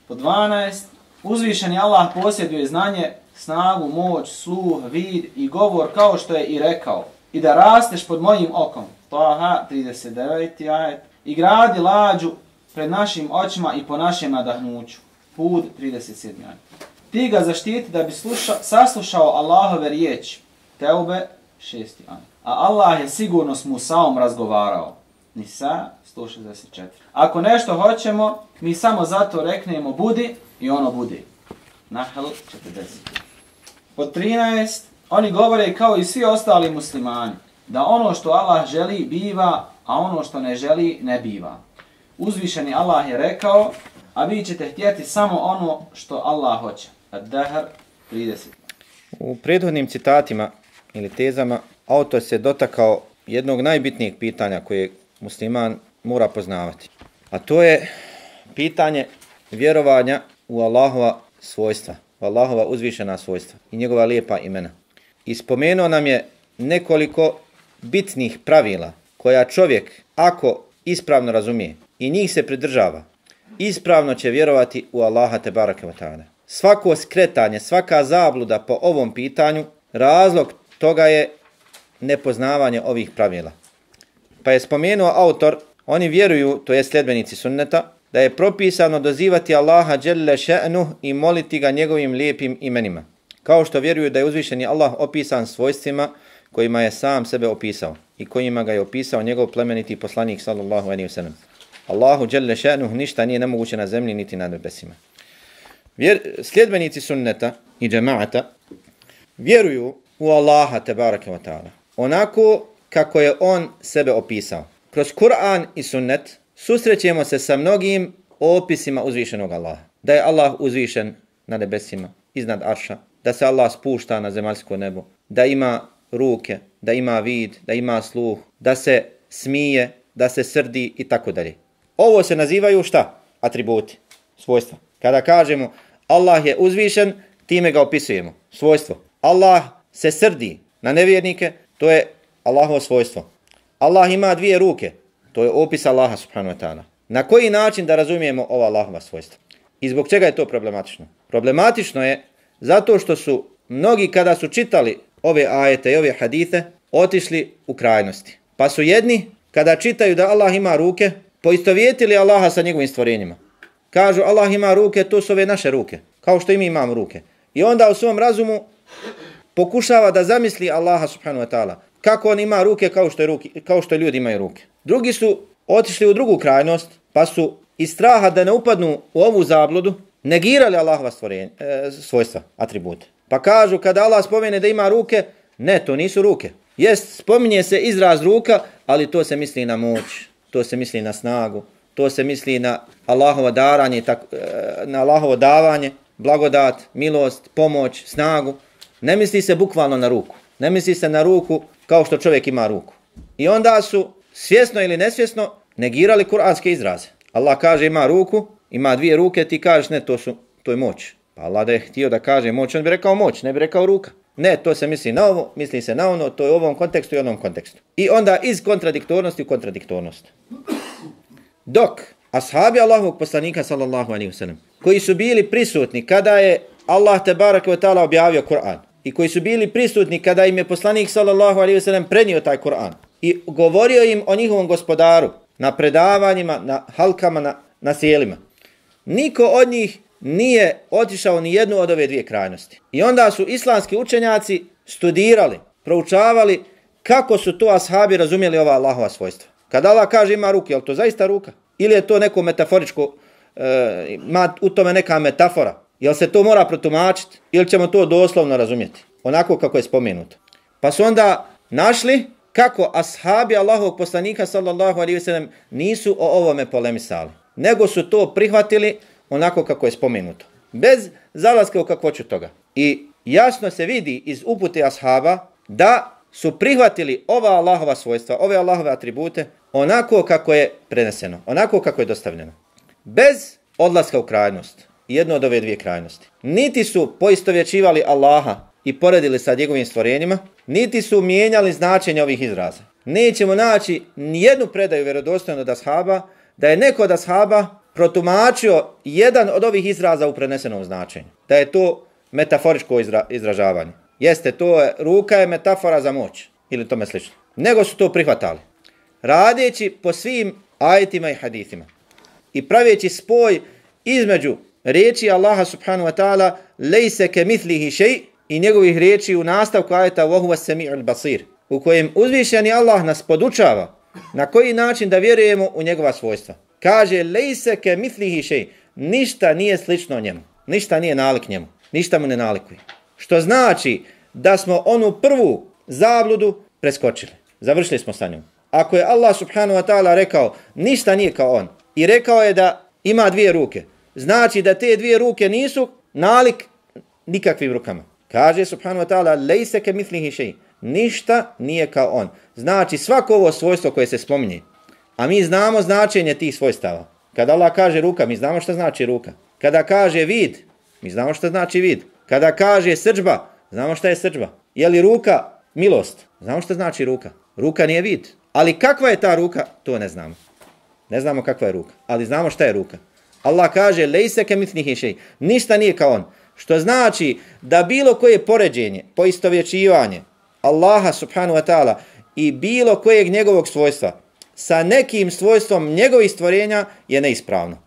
Pod 12. Uzvišeni Allah posjeduje znanje, snagu, moć, sluh, vid i govor kao što je i rekao. I da rasteš pod mojim okom. Taha 39. ajet. I gradi lađu pred našim očima i po našem nadahnuću. Hud 37. ajet. Ti ga zaštiti da bi saslušao Allahove riječi. Teube 6. ajet. A Allah je sigurno s Musaom razgovarao. Nisa 164. Ako nešto hoćemo, mi samo zato reknemo budi i ono bude. Nahl 40. Pod 13. Oni govore kao i svi ostali muslimani, da ono što Allah želi biva, a ono što ne želi ne biva. Uzvišeni Allah je rekao, a vi ćete htjeti samo ono što Allah hoće. Ad-Dahr 30. U prethodnim citatima ili tezama autor se dotakao jednog najbitnijeg pitanja koje musliman mora poznavati. A to je pitanje vjerovanja u Allahova svojstva, u Allahova uzvišena svojstva i njegova lijepa imena. I spomenuo nam je nekoliko bitnih pravila koja čovjek, ako ispravno razumije i njih se pridržava, ispravno će vjerovati u Allaha tebareke ve taala. Svako skretanje, svaka zabluda po ovom pitanju, razlog toga je nepoznavanje ovih pravila. Pa je spomenuo autor, oni vjeruju, to je sljedbenici sunneta, da je propisano dozivati Allaha dželle še'nuh i moliti ga njegovim lijepim imenima. Kao što vjeruju da je uzvišeni Allah opisan svojstvima kojima je sam sebe opisao i kojima ga je opisao njegov plemeniti poslanik sallallahu alejhi ve sellem. Allahu dželle še'nuh ništa nije nemoguće na zemlji niti na nebesima. Sljedbenici sunneta i džemaata vjeruju u Allaha tebareke ve taala onako kako je on sebe opisao. Kroz Kur'an i sunnet susrećemo se sa mnogim opisima uzvišenog Allaha. Da je Allah uzvišen na nebesima, iznad arša, da se Allah spušta na zemaljsko nebo, da ima ruke, da ima vid, da ima sluh, da se smije, da se srdi i tako dalje. Ovo se nazivaju šta? Atributi, svojstva. Kada kažemo Allah je uzvišen, time ga opisujemo. Svojstvo. Allah se srdi na nevjernike, to je Allahovo svojstvo. Allah ima dvije ruke, to je opis Allaha subhanahu wa ta'ala. Na koji način da razumijemo ova Allahova svojstva? I zbog čega je to problematično? Problematično je zato što su mnogi kada su čitali ove ajete i ove hadite otišli u krajnosti. Pa su jedni kada čitaju da Allah ima ruke poistovjetili Allaha sa njegovim stvorenjima. Kažu Allah ima ruke, to su ove naše ruke, kao što i mi imamo ruke. I onda u svom razumu pokušava da zamisli Allaha subhanahu wa ta'ala kako on ima ruke kao što ljudi imaju ruke. Drugi su otišli u drugu krajnost, pa su iz straha da ne upadnu u ovu zabludu negirali Allahova svojstva, atribute. Pa kažu kada Allah spomene da ima ruke, ne, to nisu ruke. Jest, spominje se izraz ruka, ali to se misli na moć, to se misli na snagu, to se misli na Allahovo daranje, na Allahovo davanje, blagodat, milost, pomoć, snagu. Ne misli se bukvalno na ruku. Ne misli se na ruku kao što čovjek ima ruku. I onda su svjesno ili nesvjesno negirali kuranske izraze. Allah kaže ima ruku, ima dvije ruke, ti kažeš ne, to je moć. Pa Allah da je htio da kaže moć, on bi rekao moć, ne bi rekao ruka. Ne, to se misli na ovo, misli se na ono, to je u ovom kontekstu i onom kontekstu. I onda iz kontradiktornosti u kontradiktornost. Dok ashabi Allahovog poslanika sallallahu alejhi ve sellem, koji su bili prisutni kada je Allah tebareke ve taala objavio Kur'an i koji su bili prisutni kada im je poslanik sallallahu alejhi ve sellem prenio taj Kur'an i govorio im o njihovom gospodaru na predavanjima, na halkama, na sjelima. Niko od njih nije otišao ni jednu od ove dvije krajnosti. I onda su islamski učenjaci studirali, proučavali kako su to ashabi razumjeli ova Allahova svojstva. Kada Allah kaže ima ruke, je li to zaista ruka? Ili je to neko metaforičko, ima u tome neka metafora? Jel se to mora protumačiti? Ili ćemo to doslovno razumjeti? Onako kako je spomenuto. Pa su onda našli kako ashabi Allahovog poslanika sallallahu alejhi ve sellem nisu o ovome polemisali, nego su to prihvatili onako kako je spomenuto, bez zalaska u kakvoću toga. I jasno se vidi iz upute ashaba da su prihvatili ova Allahova svojstva, ove Allahove atribute onako kako je preneseno, onako kako je dostavljeno, bez odlaska u krajnost, jedno od ove dvije krajnosti. Niti su poistovjećivali Allaha i poredili sa njegovim stvorenjima, niti su mijenjali značenje ovih izraza. Nećemo naći nijednu predaju vjerodostojnu od ashaba da je neko od ashaba protumačio jedan od ovih izraza u prenesenom značenju. Da je to metaforičko izražavanje. Jeste, ruka je metafora za moć ili tome slično. Nego su to prihvatali. Radeći po svim ajetima i hadithima i praveći spoj između riječi Allaha subhanahu wa ta'ala lejse ke mitlihi šej i njegovih riječi u nastavku ajeta wa huwa sami'ul basir, u kojem uzvišeni Allah nas podučava na koji način da vjerujemo u njegova svojstva. Kaže lejse ke mitlihi šej, ništa nije slično njemu, ništa nije nalik njemu, ništa mu ne nalikuje. Što znači da smo onu prvu zabludu preskočili. Završili smo sa njom. Ako je Allah subhanahu wa ta'ala rekao ništa nije kao on i rekao je da ima dvije ruke, znači da te dvije ruke nisu nalik nikakvim rukama. Kaže subhanahu wa ta'ala lejse ke mitlihi šej, ništa nije kao on. Znači svako ovo svojstvo koje se spominje, a mi znamo značenje tih svojstava. Kada Allah kaže ruka, mi znamo šta znači ruka. Kada kaže vid, mi znamo šta znači vid. Kada kaže srdžba, znamo šta je srdžba. Je li ruka milost? Znamo šta znači ruka. Ruka nije vid. Ali kakva je ta ruka? To ne znamo. Ne znamo kakva je ruka, ali znamo šta je ruka. Allah kaže lejse ke mitlihi šej, ništa nije kao on. Što znači da bilo koje poređenje, poistovjećivanje Allaha subhanahu wa ta'ala i bilo kojeg njegovog svojstva sa nekim svojstvom njegovih stvorenja je neispravno.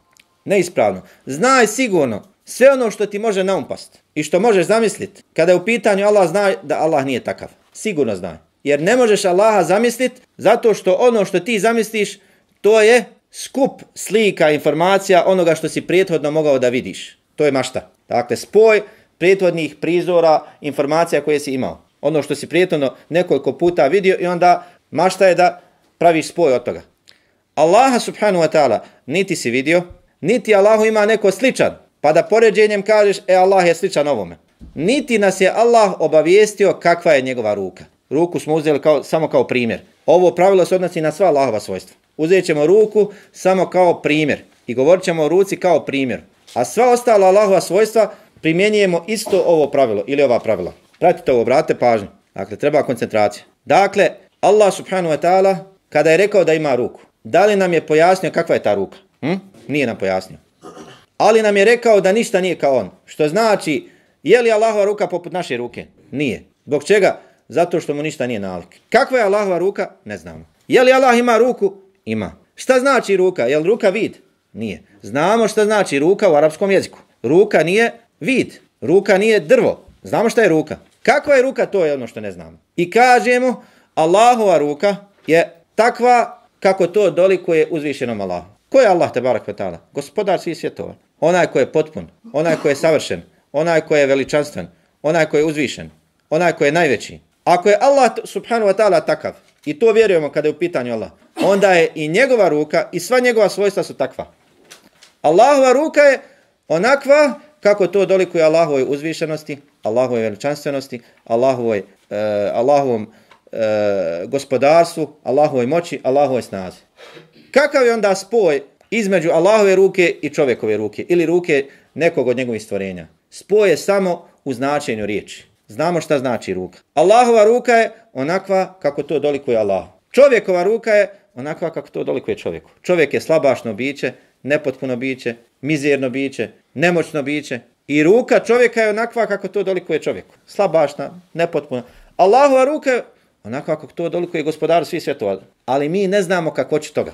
Neispravno. Znaj sigurno sve ono što ti može naumpast i što možeš zamisliti kada je u pitanju Allah, znaj da Allah nije takav. Sigurno znaj. Jer ne možeš Allaha zamisliti zato što ono što ti zamisliš to je skup slika, informacija onoga što si prethodno mogao da vidiš. To je mašta. Dakle, spoj prethodnih prizora, informacija koje si imao. Ono što si prethodno nekoliko puta vidio i onda mašta je da praviš spoj od toga. Allaha subhanahu wa ta'ala niti si vidio, niti Allahu ima neko sličan, pa da poređenjem kažeš, Allah je sličan ovome. Niti nas je Allah obavijestio kakva je njegova ruka. Ruku smo uzeli samo kao primjer. Ovo pravilo se odnosi na sva Allahova svojstva. Uzet ćemo ruku samo kao primjer i govorit ćemo o ruci kao primjer. A sva ostala Allahova svojstva primjenjujemo isto ovo pravilo ili ova pravila. Pratite ovo, obratite pažnju. Dakle, treba koncentracija. Dakle, Allah subhanahu wa ta'ala kada je rekao da ima ruku, da li nam je pojasnio kakva je ta ruka? Nije nam pojasnio. Ali nam je rekao da ništa nije kao on. Što znači, je li Allahova ruka poput naše ruke? Nije. Zbog čega? Zato što mu ništa nije nalik. Kakva je Allahova ruka? Ne znamo. Je li Allah ima ruku? Ima. Šta znači ruka? Je li ruka vid? Nije. Znamo šta znači ruka u arapskom jeziku. Ruka nije vid. Ruka nije drvo. Znamo šta je ruka. Kakva je ruka? To je ono što ne znamo. I kažemo, Allahova ruka je takva kako to dolikuje uzvišenom Allahu. Ko je Allah tebarak ve ta'ala? Gospodar svih svjetova. Onaj ko je potpun, onaj ko je savršen, onaj ko je veličanstven, onaj ko je uzvišen, onaj ko je najveći. Ako je Allah subhanahu wa ta'ala takav, i to vjerujemo kada je u pitanju Allah, onda je i njegova ruka i sva njegova svojstva su takva. Allahova ruka je onakva kako to dolikuje Allahovoj uzvišenosti, Allahovoj veličanstvenosti, Allahovom gospodarstvu, Allahovoj moći, Allahovoj snazi. Kakav je onda spoj između Allahove ruke i čovjekove ruke ili ruke nekog od njegovih stvorenja? Spoj je samo u značenju riječi. Znamo šta znači ruka. Allahova ruka je onakva kako to dolikuje Allah. Čovjekova ruka je onakva kako to dolikuje čovjeku. Čovjek je slabašno biće, nepotpuno biće, mizerno biće, nemoćno biće. I ruka čovjeka je onakva kako to dolikuje čovjeku. Slabašna, nepotpuna. Allahova ruka je onakva kako to dolikuje gospodaru svih svjetova. Ali mi ne znamo kakvoću toga.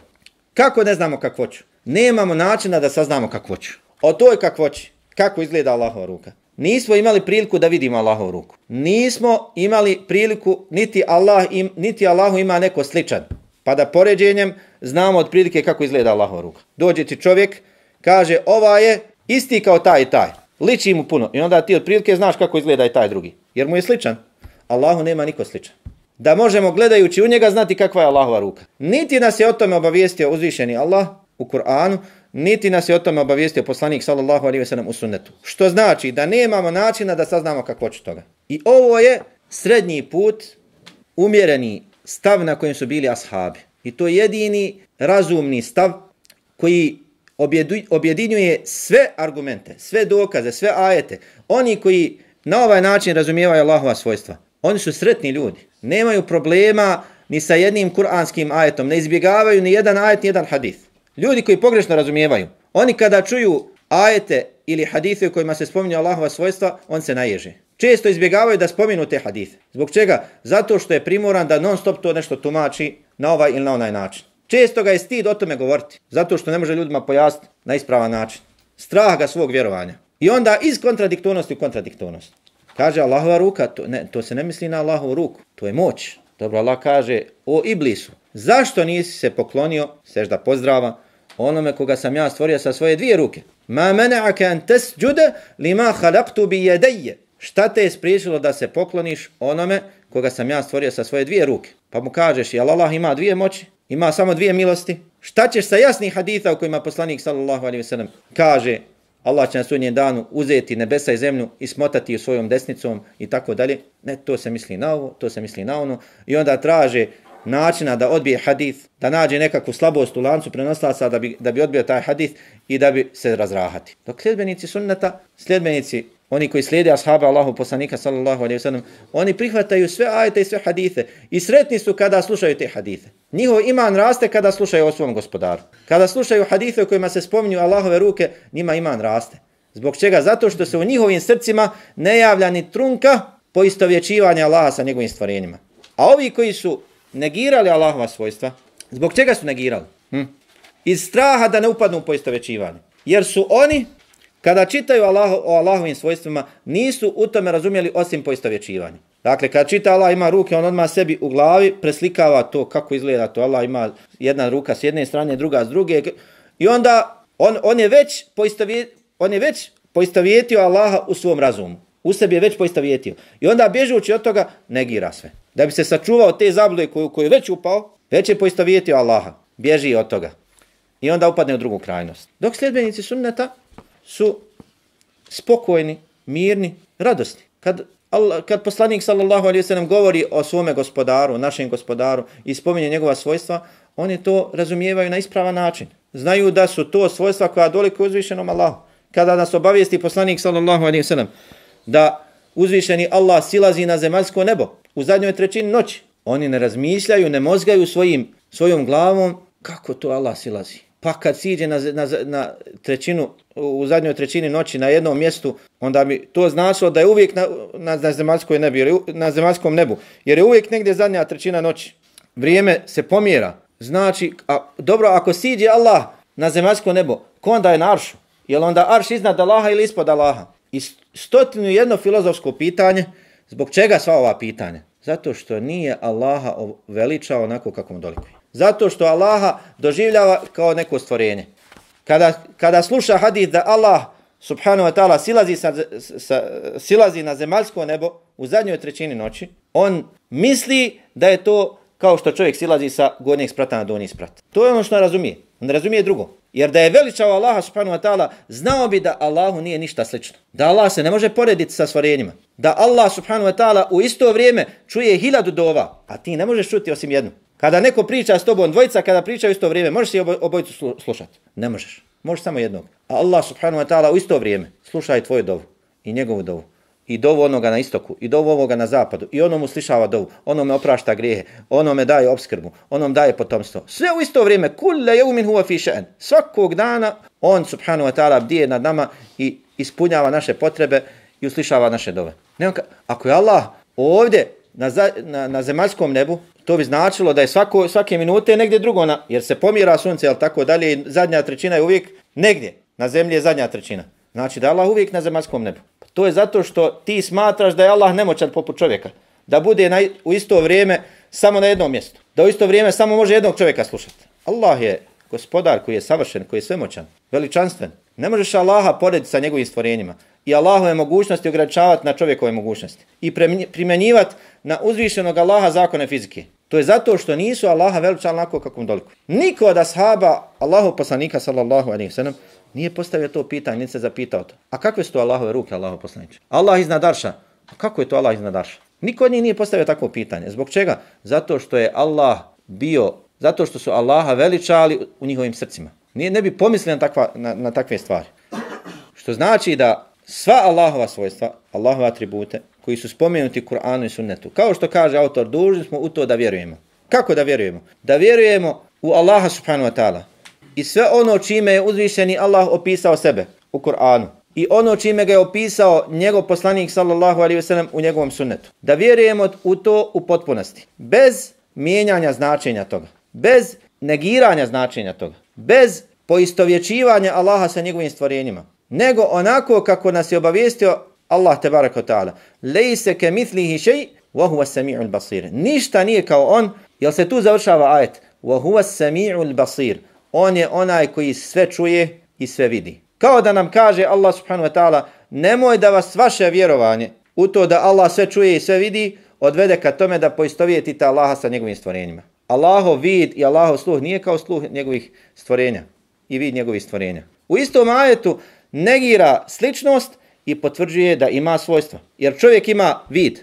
Kako ne znamo kakvoću? Nemamo načina da saznamo kakvoću. O toj kakvoći, kako izgleda Allahova ruka. Nismo imali priliku da vidimo Allahovu ruku. Nismo imali priliku, niti Allahu ima neko sličan. Pa da poređenjem znamo od prilike kako izgleda Allahova ruka. Dođe ti čovjek, kaže ova je isti kao taj i taj. Liči mu puno. I onda ti od prilike znaš kako izgleda i taj drugi. Jer mu je sličan. Allahu nema niko sličan. Da možemo gledajući u njega znati kakva je Allahova ruka. Niti nas je o tome obavijestio uzvišeni Allah u Kur'anu, niti nas je o tome obavijestio poslanik sallallahu alejhi ve sellem u sunnetu. Što znači da nemamo načina da saznamo kakvoću toga. I ovo je srednji put, umjereni stav na kojem su bili ashabi. I to je jedini razumni stav koji objedinjuje sve argumente, sve dokaze, sve ajete. Oni koji na ovaj način razumijevaju Allahova svojstva. Oni su sretni ljudi. Nemaju problema ni sa jednim kuranskim ajetom. Ne izbjegavaju ni jedan ajet, ni jedan hadith. Ljudi koji pogrešno razumijevaju. Oni kada čuju ajete ili hadithe u kojima se spominju Allahova svojstva, on se naježe. Često izbjegavaju da spominu te hadithe. Zbog čega? Zato što je primoran da non stop to nešto tumači na ovaj ili na onaj način. Često ga je stid o tome govoriti. Zato što ne može ljudima pojasniti na ispravan način. Strah ga svog vjerovanja. I onda iz kontradiktornosti u kontradiktornost. Kaže Allahova ruka, to se ne misli na Allahovu ruku. To je moć. Dobro, Allah kaže, o Iblisu, zašto nisi se poklonio, sežda pozdrava, onome koga sam ja stvorio sa svoje dvije ruke? Ma mena'aka an tasjuda lima khalaqtu bi yadayya. Šta te je spriječilo da se pokloniš onome koga sam ja stvorio sa svoje dvije ruke? Pa mu kažeš, jel Allah ima dvije moći? Ima samo dvije milosti? Šta ćeš sa jasnih haditha u kojima poslanik sallallahu alejhi ve sellem kaže Allah će na sudnjem danu uzeti nebesa i zemlju i smotati u svojom desnicom i tako dalje? Ne, to se misli na ovo, to se misli na ono. I onda traže načina da odbije hadith, da nađe nekakvu slabost u lancu prenoslaca da bi odbio taj hadith i da bi se razrahati. Dok sljedbenici sunneta, sljedbenici, oni koji slijede ashaba Allahu poslanika sallallahu alejhi ve sellem, oni prihvataju sve ajete i sve hadithe i sretni su kada slušaju te hadithe. Njihov iman raste kada slušaju o svom gospodaru. Kada slušaju hadithe u kojima se spominju Allahove ruke, njima iman raste. Zbog čega? Zato što se u njihovim srcima ne javlja ni trunka poistovjećivanja Allaha sa njegovim stvorenjima. A ovi koji su negirali Allahova svojstva, zbog čega su negirali? Iz straha da ne upadnu u poistovjećivanje. Jer su oni, kada čitaju o Allahovim svojstvima, nisu u tome razumjeli osim poistovjećivanja. Dakle, kada čita Allah ima ruke, on odmah sebi u glavi preslikava to kako izgleda to. Allah ima jedna ruka s jedne strane, druga s druge. I onda on je već poistovjetio Allaha u svom razumu. U sebi je već poistovjetio. I onda bježući od toga negira sve. Da bi se sačuvao te zablude koju je već upao, već je poistovjetio Allaha. Bježi od toga. I onda upadne u drugu krajnost. Dok sljedbenici sunneta su spokojni, mirni, radosni. Kad poslanik sallallahu alejhi ve sellem govori o svome gospodaru, našem gospodaru i spominje njegova svojstva, oni to razumijevaju na ispravan način. Znaju da su to svojstva koja dolikuju uzvišenom Allahu. Kada nas obavijesti poslanik sallallahu alejhi ve sellem da uzvišeni Allah silazi na zemaljsko nebo u zadnjoj trećini noći, oni ne razmišljaju, ne mozgaju svojom glavom kako to Allah silazi. Pa kad siđe na trećinu, u zadnjoj trećini noći na jednom mjestu, onda bi to značilo da je uvijek na zemaljskom nebu. Jer je uvijek negdje zadnja trećina noći. Vrijeme se pomjera. Znači, dobro, ako siđe Allah na zemaljsko nebo, ko onda je na aršu? Je li onda arš iznad Allaha ili ispod Allaha? I 101 filozofsko pitanje. Zbog čega sva ova pitanja? Zato što nije Allaha veličao onako kako mu dolikuje. Zato što Allaha doživljava kao neko stvorenje. Kada sluša hadith da Allah subhanahu wa ta'ala silazi na zemaljsko nebo u zadnjoj trećini noći, on misli da je to kao što čovjek silazi sa gornjeg sprata na donji sprat. To je ono što razumije. On ne razumije drugo. Jer da je veličao Allaha subhanahu wa ta'ala, znao bi da Allahu nije ništa slično. Da Allah se ne može porediti sa stvorenjima. Da Allah subhanahu wa ta'ala u isto vrijeme čuje 1000 dova, a ti ne možeš čuti osim jednu. Kada neko priča s tobom, dvojica kada pričaju u isto vrijeme, možeš si obojicu slušati? Ne možeš. Možeš samo jednog. A Allah subhanahu wa ta'ala u isto vrijeme sluša i tvoju dovu i njegovu dovu. I dovu onoga na istoku, i dovu ovoga na zapadu, i onomu slišava dovu, onome oprašta grijehe, onome daje opskrbu, onom daje potomstvo. Sve u isto vrijeme, kulle yawmin huwa fi sha'n. Svakog dana on subhanahu wa ta'ala bdije nad nama i ispunjava naše potrebe i uslišava naše dove. Ako je Allah ovdje na zemaljskom nebu, to bi značilo da je svake minute negdje drugo, jer se pomjera sunce, ali tako dalje, i zadnja trećina je uvijek negdje. Na zemlji je zadnja trećina. Znači da je Allah uvijek na zemaljskom nebu. To je zato što ti smatraš da je Allah nemoćan poput čovjeka. Da bude u isto vrijeme samo na jednom mjestu. Da u isto vrijeme samo može jednog čovjeka slušati. Allah je gospodar koji je savršen, koji je svemoćan, veličanstven. Ne možeš Allaha porediti sa njegovim stvorenjima. I Allahove mogućnosti ograničavati na čovjekove mogućnosti. I primjenjivati na uzvišenog Allaha zakone fizike. To je zato što nisu Allaha veličali onako kako mu dolikuje. Niko od ashaba Allahov poslanika sallallahu alejhi ve sellem nije postavio to pitanje, nije se zapitao to. A kakve su to Allahove ruke, Allahov poslaniče? Allah iznad arša. A kako je to Allah iznad arša? Niko od njih nije postavio takvo pitanje. Zbog čega? Zato što je Allah zato što su Allaha veličali u njihovim srcima. Ne bi pomislili na takve stvari. Što znači da sva Allahova svojstva, Allahove atribute, koji su spomenuti u Kur'anu i sunnetu. Kao što kaže autor, dužni smo u to da vjerujemo. Kako da vjerujemo? Da vjerujemo u Allaha subhanahu wa ta'ala i sve ono čime je uzvišeni Allah opisao sebe u Kur'anu i ono čime ga je opisao njegov poslanik sallallahu alejhi ve sellem u njegovom sunnetu. Da vjerujemo u to u potpunosti, bez mijenjanja značenja toga, bez negiranja značenja toga, bez poistovjećivanja Allaha sa njegovim stvorenjima, nego onako kako nas je obavijestio Allah tebaraka wa ta'ala. Lejse ke mitlihi šej, wa huwa sami'ul basir. Ništa nije kao on, jel se tu završava ajet? Wa huwa sami'ul basir. On je onaj koji sve čuje i sve vidi. Kao da nam kaže Allah subhanahu wa ta'ala, nemoj da vas vaše vjerovanje u to da Allah sve čuje i sve vidi odvede ka tome da poistovjetite Allaha sa njegovim stvorenjima. Allahov vid i Allahov sluh nije kao sluh njegovih stvorenja i vid njegovih stvorenja. U istom ajetu negira sličnost i potvrđuje da ima svojstva. Jer čovjek ima vid.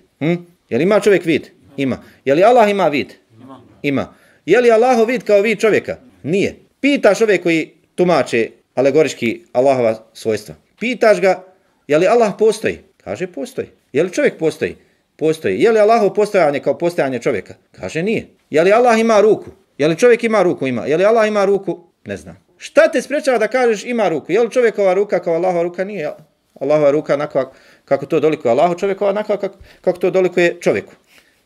Jel ima čovjek vid? Ima. Je li Allah ima vid? Ima. Je li Allahov vid kao vid čovjeka? Nije. Pitaš čovjek koji tumače alegorički Allahova svojstva. Pitaš ga, je li Allah postoji? Kaže postoji. Je li čovjek postoji? Postoji. Je li Allahov postojanje kao postojanje čovjeka? Kaže nije. Je li Allah ima ruku? Je li čovjek ima ruku? Ima. Je li Allah ima ruku? Ne znam. Šta te sprečava da kažeš ima ruku? Je li čovjekova ruka kao Allahova ruka? Nije. Allahova ruka onako kako to dolikuje Allahu, čovjekova onako kako to dolikuje čovjeku.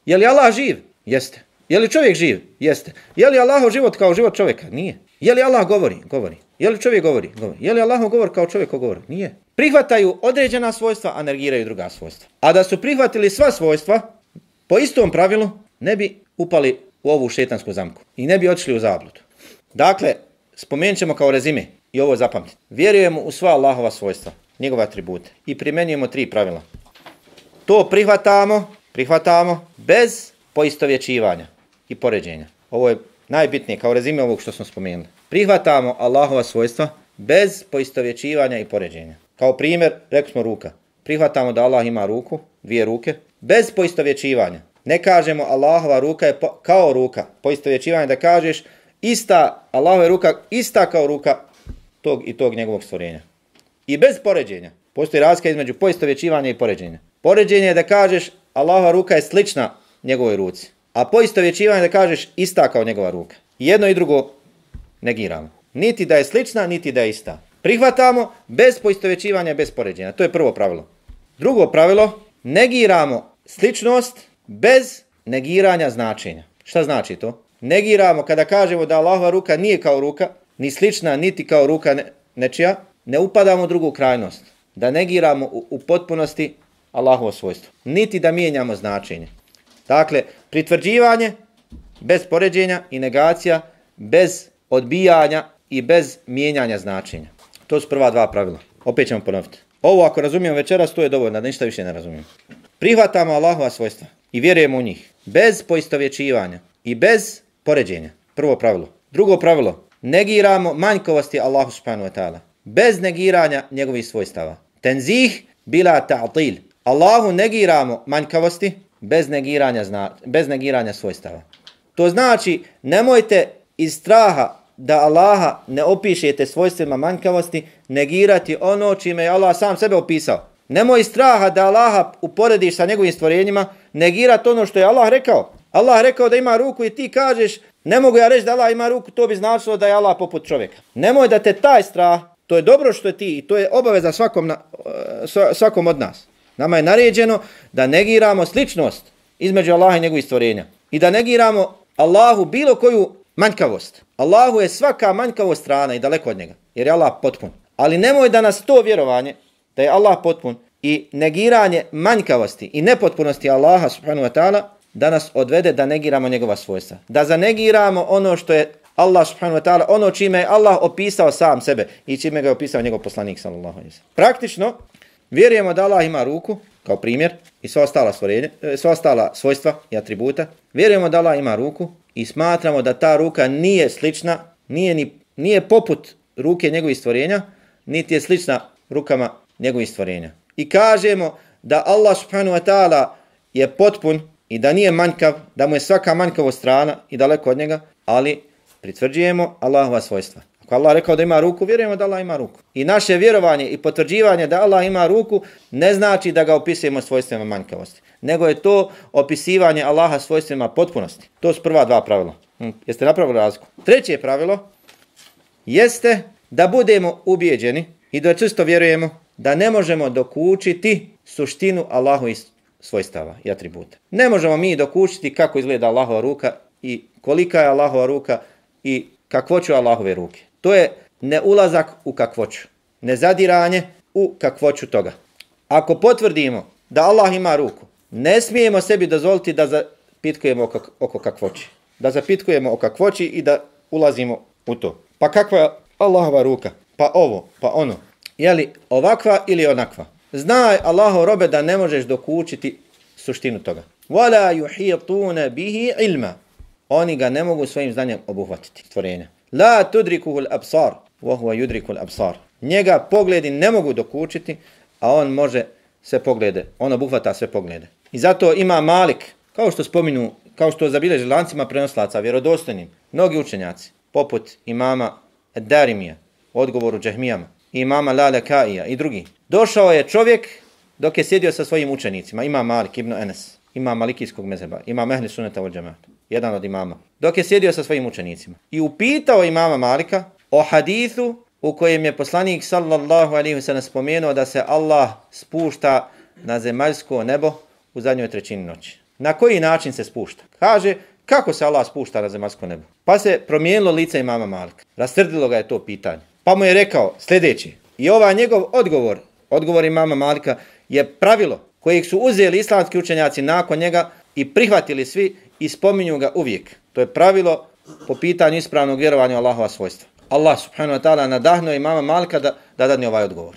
Je li Allah živ? Jeste. Je li čovjek živ? Jeste. Je li Allahov život kao život čovjeka? Nije. Je li Allah govori? Govori. Je li čovjek govori? Govori. Je li Allahov govor kao čovjek govori? Nije. Prihvataju određena svojstva, a negiraju druga svojstva. A da su prihvatili sva svojstva, po istom pravilu, ne bi upali u ovu šetansku zamku i ne bi odšli u zabludu. Dakle, spomenut ćemo kao rezime i ovo zapamtiti. Vjerujemo u sva Allahova svojstva, njegove atribute i primjenjujemo 3 pravila. To prihvatamo bez poistovjećivanja i poređenja. Ovo je najbitnije kao rezime ovog što smo spomenuli. Prihvatamo Allahova svojstva bez poistovjećivanja i poređenja. Kao primjer, rekli smo ruka. Prihvatamo da Allah ima ruku, 2 ruke, bez poistovjećivanja. Ne kažemo Allahova ruka je kao ruka. Poistovjećivanje da kažeš Allahova ruka ista kao ruka tog i tog njegovog stvorenja. I bez poređenja. Postoji razlika između poistovjećivanja i poređenja. Poređenje je da kažeš Allahova ruka je slična njegovoj ruci. A poistovjećivanje da kažeš ista kao njegova ruka. Jedno i drugo negiramo. Niti da je slična, niti da je ista. Prihvatamo bez poistovjećivanja i bez poređenja. To je prvo pravilo. Drugo pravilo, negiramo sličnost bez negiranja značenja. Šta znači to? Negiramo kada kažemo da Allahova ruka nije kao ruka, ni slična, niti kao ruka nečija, ne upadamo u drugu krajnost. Da negiramo u potpunosti Allahovo svojstvo. Niti da mijenjamo značenje. Dakle, pritvrđivanje bez poređenja i negacija, bez odbijanja i bez mijenjanja značenja. To su prva 2 pravila. Opet ćemo ponoviti. Ovo ako razumijemo večeras, to je dovoljno, da ništa više ne razumijemo. Prihvatamo Allahova svojstva i vjerujemo u njih. Bez poistovjećivanja i bez poređenja. Prvo pravilo. Drugo pravilo. Negiramo manjkavosti Allahu subhanahu wa ta'ala. Bez negiranja njegovih svojstava. Tenzih bila ta'til. Allahu negiramo manjkavosti bez negiranja svojstava. To znači, nemojte iz straha da Allaha ne opišete svojstvima manjkavosti, negirati ono čime je Allah sam sebe opisao. Nemoj iz straha da Allaha uporediš sa njegovim stvorenjima, negirati ono što je Allah rekao. Allah rekao da ima ruku i ti kažeš, ne mogu ja reći da Allah ima ruku, to bi značilo da je Allah poput čovjeka. Nemoj da te taj strah, to je dobro što je ti i to je obaveza svakom od nas. Nama je naređeno da negiramo sličnost između Allaha i njegovih stvorenja. I da negiramo Allahu bilo koju manjkavost. Allahu je svaka manjkavost strana i daleko od njega, jer je Allah potpun. Ali nemoj da nas to vjerovanje, da je Allah potpun i negiranje manjkavosti i nepotpunosti Allaha subhanahu wa ta'ala, da nas odvede da negiramo njegova svojstva. Da zanegiramo ono što je Allah subhanahu wa ta'ala, ono čime je Allah opisao sam sebe i čime ga je opisao njegov poslanik sallallahu alejhi ve sellem. Praktično, vjerujemo da Allah ima ruku, kao primjer, i sva ostala svojstva i atributa. Vjerujemo da Allah ima ruku i smatramo da ta ruka nije slična, nije poput ruke njegovih stvorenja, niti je slična rukama njegovih stvorenja. I kažemo da Allah subhanahu wa ta'ala je potpun i da nije manjkav, da mu je svaka manjkavost strana i daleko od njega, ali pritvrđujemo Allahova svojstva. Ako Allah rekao da ima ruku, vjerujemo da Allah ima ruku. I naše vjerovanje i potvrđivanje da Allah ima ruku ne znači da ga opisujemo svojstvima manjkavosti, nego je to opisivanje Allaha svojstvima potpunosti. To su prva dva pravila. Jeste napravili razliku? Treće pravilo jeste da budemo ubijeđeni i da čvrsto vjerujemo da ne možemo dokučiti suštinu Allahovih svojstava i atributa. Ne možemo mi dokučiti kako izgleda Allahova ruka i kolika je Allahova ruka i kakvoću Allahove ruke. To je neulazak u kakvoću, nezadiranje u kakvoću toga. Ako potvrdimo da Allah ima ruku, ne smijemo sebi dozvoliti da zapitkujemo oko kakvoći. Da zapitkujemo o kakvoći i da ulazimo u to. Pa kakva je Allahova ruka? Pa ovo, pa ono. Je li ovakva ili onakva? Znaj, Allahov robe, da ne možeš dokučiti suštinu toga. وَلَا يُحِيطُونَ بِهِ عِلْمًا. Oni ga ne mogu svojim znanjem obuhvatiti, stvorenja. La tudrikuhu al-absar, wa huwa yudriku al-absar. Njega pogledi ne mogu dokučiti, a on može sve poglede, on obuhvata sve poglede. I zato ima Malik, kao što zabilježi lancima prenoslaca, vjerodostojnim, mnogi učenjaci, poput imama Ad-Darimija, u odgovoru Džahmijama, imama Lalakaija i drugi. Došao je čovjek dok je sjedio sa svojim učenicima, imam Malik ibn Enes, imam Malikijskog mezheba, imam Ehli Sunneta wal Džemaata, jedan od imama, dok je sjedio sa svojim učenicima i upitao imama Malika o hadithu u kojem je poslanik sallallahu alejhi ve sellem spomenuo da se Allah spušta na zemaljsko nebo u zadnjoj trećini noći. Na koji način se spušta? Kaže, kako se Allah spušta na zemaljsko nebo? Pa se promijenilo lice imama Malika. Rastrdilo ga je to pitanje. Pa mu je rekao sljedeći. I ovaj njegov odgovor imama Malika je pravilo kojeg su uzeli islamski učenjaci nakon njega i prihvatili svi i spominju ga uvijek. To je pravilo po pitanju ispravnog vjerovanja u Allahova svojstva. Allah subhanahu wa ta'ala nadahnuo imama Malika da dadne ovaj odgovor,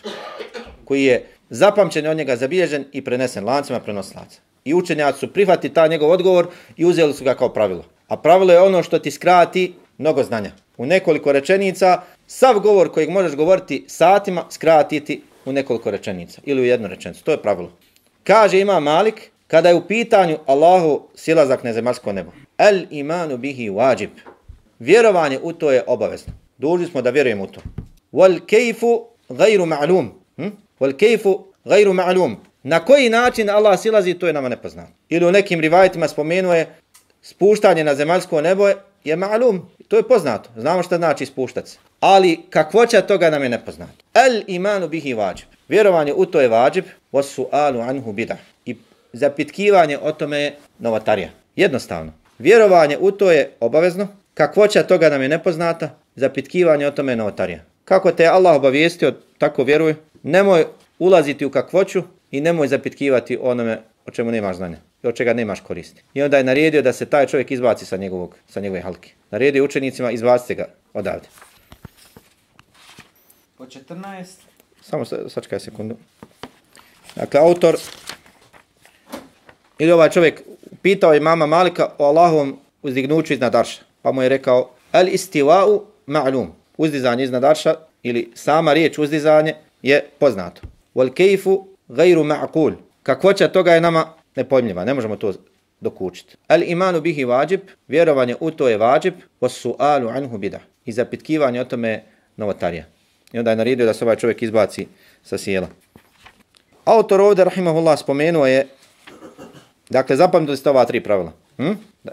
koji je zapamćen od njega, zabilježen i prenesen lancima prenoslaca. I učenjaci su prihvatili taj njegov odgovor i uzeli su ga kao pravilo. A pravilo je ono što ti skrati mnogo znanja. U nekoliko rečenica, sav govor kojeg možeš govoriti satima, skratiti u nekoliko rečenica ili u jednu rečenicu. To je pravilo. Kaže imam Malik, kada je u pitanju Allahu silazak na zemaljsko nebo. El imanu bihi wajib. Vjerovanje u to je obavezno. Dužni smo da vjerujemo u to. Wal kayfu ghayru ma'lum. Wal kayfu ghayru ma'lum. Na koji način Allah silazi, to je nama nepoznato. Ili u nekim rivajetima spomenuje spuštanje na zemaljsko nebo je ma'lum. To je poznato. Znamo šta znači spuštati se. Ali kakvoća toga nam je nepoznato. El imanu bihi wajib. Vjerovanje u to je wajib. Was su'alu anhu bid'ah. I zapitkivanje o tome je novotarija. Jednostavno. Vjerovanje u to je obavezno. Kakvoća toga nam je nepoznata. Zapitkivanje o tome je novotarija. Kako te Allah obavijestio, tako vjeruj. Nemoj ulaziti u kakvoću i nemoj zapitkivati onome o čemu nemaš znanja i od čega nemaš koristi. I onda je naredio da se taj čovjek izbaci sa njegove halke. Naredio učenicima, izbacite ga odavde. Po 14. Samo sačekaj sekundu. Dakle, autor ili ovaj čovjek pitao imama Malika o Allahovom uzdignuću iznad arša. Pa mu je rekao, al istiva'u ma'lum. Uzdizanje iznad arša ili sama riječ uzdizanje je poznato. Wal kayfu ghayru ma'qul. Kakvoća toga je nama nepojmljiva, ne možemo to dokučiti. Al imanu bihi wajib, vjerovanje u to je wajib, was su'alu anhu bid'ah. I zapitkivanje o tome je novotarija. I onda je naredio da se ovaj čovjek izbaci sa sjela. Autor ovdje, rahimahullah, spomenuo je, dakle, zapamtili ste ova 3 pravila. Da,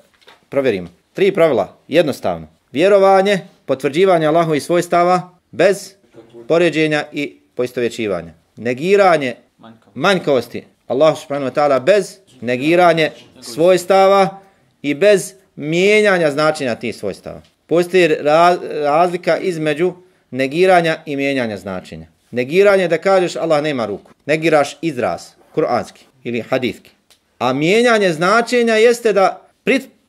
provjerimo. 3 pravila, jednostavno. Vjerovanje, potvrđivanje Allahovih svojstava bez poređenja i poistovjećivanja. Negiranje manjkavosti Allah subhanahu wa ta'ala bez negiranje svojstava i bez mijenjanja značenja tih svojstava. Postoji razlika između negiranja i mijenjanja značenja. Negiranje da kažeš Allah nema ruku. Negiraš izraz, kuranski ili hadithki. A mijenjanje značenja jeste da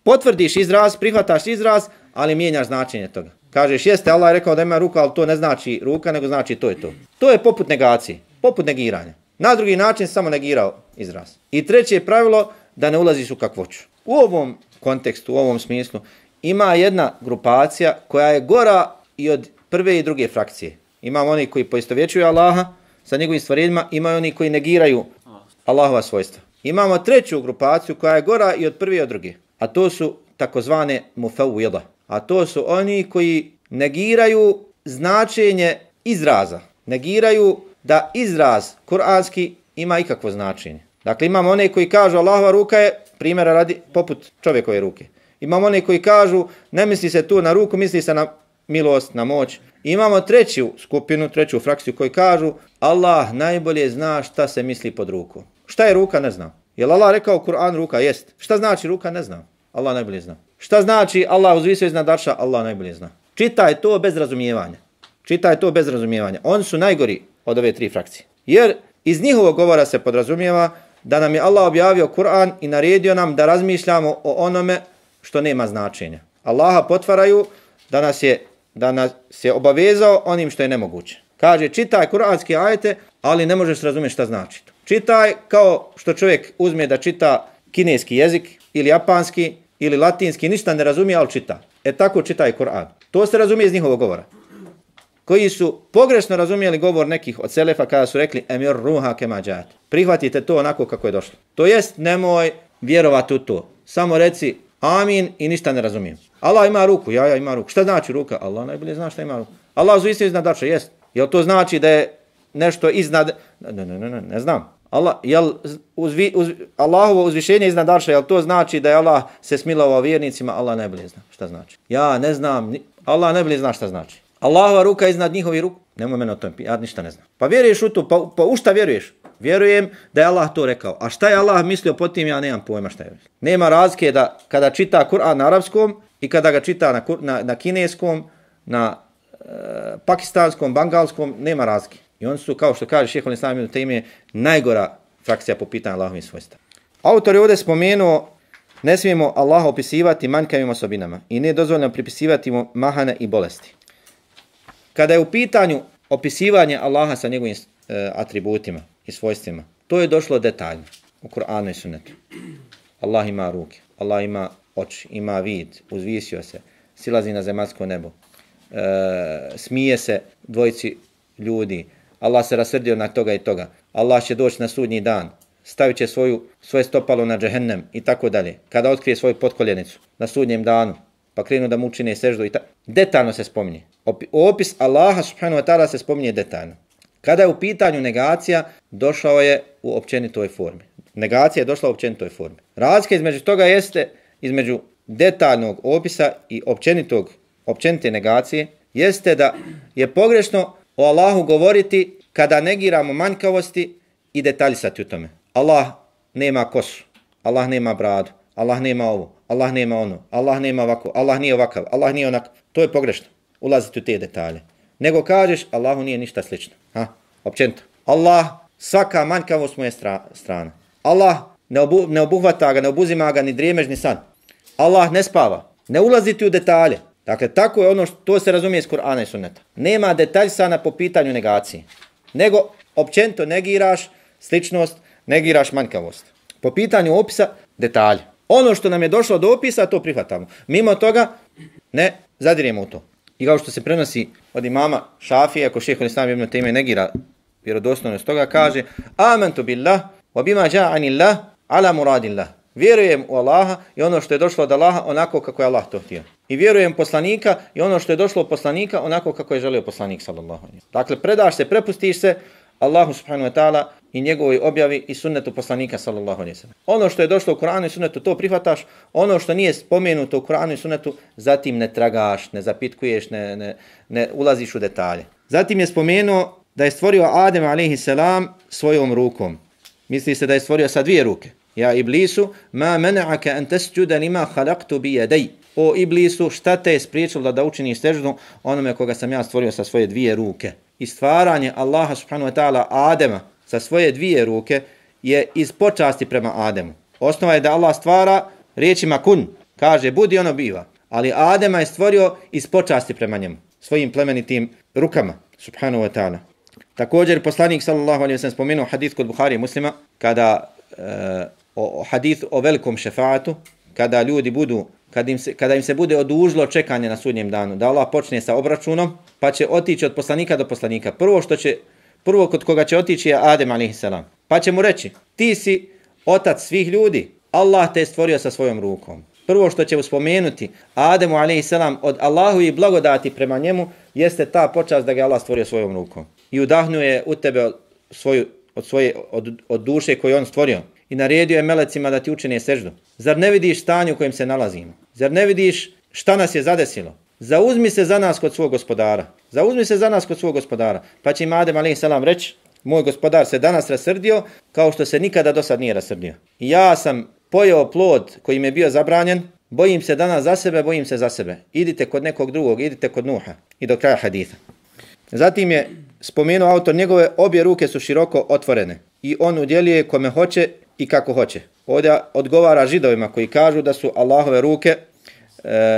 potvrdiš izraz, prihvataš izraz, ali mijenjaš značenje toga. Kažeš, jeste, Allah je rekao da ima ruku, ali to ne znači ruka, nego znači to je to. To je poput negacije, poput negiranja. Na drugi način samo negirao izraz. I treće pravilo, da ne ulaziš u kakvoću. U ovom kontekstu, u ovom smislu, ima jedna grupacija koja je gora i od prve i druge frakcije. Imamo oni koji poistovjećuju Allaha sa njegovim stvorenjima, imaju oni koji negiraju Allahova svojstva. Imamo treću grupaciju koja je gora i od prve i od druge. A to su takozvane mufawwida. A to su oni koji negiraju značenje izraza. Negiraju da izraz kuranski ima ikakvo značenje. Dakle, imamo one koji kažu Allahova ruka je, primjera radi, poput čovjekove ruke. Imamo one koji kažu, ne misli se tu na ruku, misli se na milost, na moć. Imamo treću skupinu, treću frakciju koji kažu, Allah najbolje zna šta se misli pod ruku. Šta je ruka, ne znam. Jel Allah rekao Kur'an ruka? Jest. Šta znači ruka? Ne znam. Allah najbolje zna. Šta znači Allah uzvisio iznad arša? Allah najbolje zna. Čitaj to bez razumijevanja. Čitaj to bez razumijevanja. Oni su najgori od ove tri frakcije. Jer iz njihovog govora se podrazumijeva da nam je Allah objavio Kur'an i naredio nam da razmišljamo o onome što nema značenja. Allaha potvaraju da nas je obavezao onim što je nemoguće. Kaže, čitaj kuranske ajete, ali ne možeš razumjeti šta znači. Čitaj kao što čovjek uzme da čita kineski jezik ili japanski ili latinski, ništa ne razumije, ali čita. Tako čitaj Kur'an. To se razumije iz njihovog govora. Koji su pogrešno razumijeli govor nekih od selefa kada su rekli emir ruha kema džat. Prihvatite to onako kako je došlo. To jest, nemoj vjerovati u to. Samo reci amin i ništa ne razumijem. Allah ima ruku, ja ima ruku. Šta znači ruka? Allah najbolje zna šta ima ruku. Allah uzvisio iznad arša, jest. Jel to znači da je nešto iznad... Ne znam. Allahovo uzvišenje iznad arša, jel to znači da je Allah se smilovao vjernicima? Allah najbolje zna šta znači. Ja ne znam, Allah najbolje zna šta znači. Allahova ruka iznad njihovi ruku? Nemoj mene o tom, ja ništa ne znam. Pa vjeruješ u to, pa u šta vjeruješ? Vjerujem da je Allah to rekao. A šta je Allah mislio po tim, ja nemam pojma šta je. Nema razlike da kada čita Kur'an na arapskom i kada ga čita na kineskom, na pakistanskom, bangalskom, nema razlike. I oni su, kao što kaže Šejhul Islam ibn Tejmije, najgora frakcija po pitanju Allahovih svojstava. Autor je ovdje spomenuo, ne smijemo Allaha opisivati manjkavim osobinama i ne dozvoljeno pripisivati mu mahane i bolesti. Kada je u pitanju opisivanje Allaha sa njegovim atributima i svojstvima, to je došlo detaljno u Kur'anu i Sunnetu. Allah ima ruke, Allah ima oči, ima vid, uzvisio se, silazi na zemaljsko nebo, smije se dvojici ljudi, Allah se rasrdio na toga i toga, Allah će doći na sudnji dan, stavit će svoje stopalo na džehennem i tako dalje. Kada otkrije svoju potkoljenicu na sudnjem danu, pa krenu da mu učine seždu i tako. Detaljno se spominje. Opis Allaha subhanahu wa ta'ala se spominje detaljno. Kada je u pitanju negacija, došao je u općenitoj formi. Negacija je došla u općenitoj formi. Razlika između toga jeste, između detaljnog opisa i općenite negacije, jeste da je pogrešno o Allahu govoriti kada negiramo manjkavosti i detaljisati u tome. Allah nema kosu, Allah nema bradu, Allah nema ovo, Allah nema ono, Allah nema ovako, Allah nije ovakav, Allah nije onakav. To je pogrešno, ulaziti u te detalje. Nego kažeš, Allahu nije ništa slično. Općenito. Allah, svaka manjkavost mu je strana. Allah ne obuhvata ga, ne obuzima ga ni drijemež, ni san. Allah ne spava. Ne ulaziti u detalje. Dakle, tako je ono to se razumije iz Kur'ana i Sunneta. Nema detaljsana po pitanju negacije. Nego, općenito negiraš sličnost, negiraš manjkavost. Po pitanju opisa, detalje. Ono što nam je došlo do opisa, to prihvatamo. Mimo toga, ne zadiremo u to. I kao što se prenosi od imama Šafije, ako Šejhul Islam ibn Tejmije negira vjerodostojnost toga, kaže amantu billah wa bima ja'anillah ala muradillah. Vjerujem u Allaha i ono što je došlo od Allaha onako kako je Allah to htio. I vjerujem poslanika i ono što je došlo od poslanika onako kako je želio poslanik sallallahu alejhi ve sellem. Dakle, predaš se, prepustiš se Allahu subhanahu wa ta'ala i njegovoj objavi i sunnetu poslanika sallallahu alejhi ve sellem. Ono što je došlo u Kur'anu i sunnetu, to prihvataš. Ono što nije spomenuto u Kur'anu i sunnetu, zatim ne tragaš, ne zapitkuješ, ne ulaziš u detalje. Zatim je spomenuo da je stvorio Adem alejhi selam svojom rukom. Misli se da je stvorio sa dvije ruke. Ja Iblisu, ma mena'aka an tasjuda lima khalaqtu bi yaday. O Iblisu, šta te je spriječilo da učiniš seždu onome koga sam ja stvorio sa svoje dvije ruke? I stvaranje Allaha subhanahu wa ta'ala Adema sa svoje dvije ruke je iz počasti prema Ademu. Osnova je da Allah stvara riječima kun, kaže budi, ono biva. Ali Adema je stvorio iz počasti prema njemu, svojim plemenitim rukama, subhanahu wa ta'ala. Također poslanik sallallahu alejhi ve sellem spomenuo hadis kod Buhari i Muslima kada hadis o velikom šefaatu, kada ljudi budu, kada im se bude odužilo čekanje na sudnjem danu, da Allah počne sa obračunom, pa će otići od poslanika do poslanika. Prvo kod koga će otići je Adem a.s. Pa će mu reći, ti si otac svih ljudi, Allah te je stvorio sa svojom rukom. Prvo što će spomenuti Ademu a.s. od Allahu i blagodati prema njemu jeste ta počast da ga Allah stvorio svojom rukom. I udahnuo je u tebe od duše koju on stvorio. I naredio je melecima da ti učine seždu. Zar ne vidiš stanje u kojem se nalazimo? Zar ne vidiš šta nas je zadesilo? Zauzmi se za nas kod svog gospodara. Zauzmi se za nas kod svog gospodara. Pa će im Adem a.s. reći, moj gospodar se danas rasrdio kao što se nikada do sad nije rasrdio. I ja sam pojeo plod koji mi je bio zabranjen, bojim se danas za sebe, bojim se za sebe. Idite kod nekog drugog, idite kod Nuha. I do kraja haditha. Zatim je spomenuo autor, njegove obje ruke su široko otvorene i on udjeljuje kome hoće i kako hoće. Ovdje odgovara Židovima koji kažu da su Allahove ruke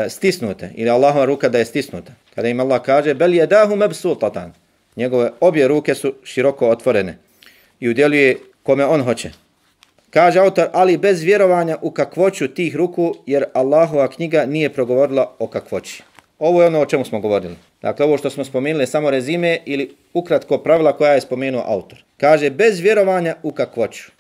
stisnute ili Allahova ruka da je stisnuta. Kada im Allah kaže bel jedahu mebsutatan, njegove obje ruke su široko otvorene i udjeljuje kome on hoće. Kaže autor, ali bez vjerovanja u kakvoću tih ruku, jer Allahova knjiga nije progovorila o kakvoći. Ovo je ono o čemu smo govorili. Dakle, ovo što smo spomenuli je samo rezime ili ukratko pravila koja je spomenuo autor. Kaže, bez vjerovanja u kakvoću.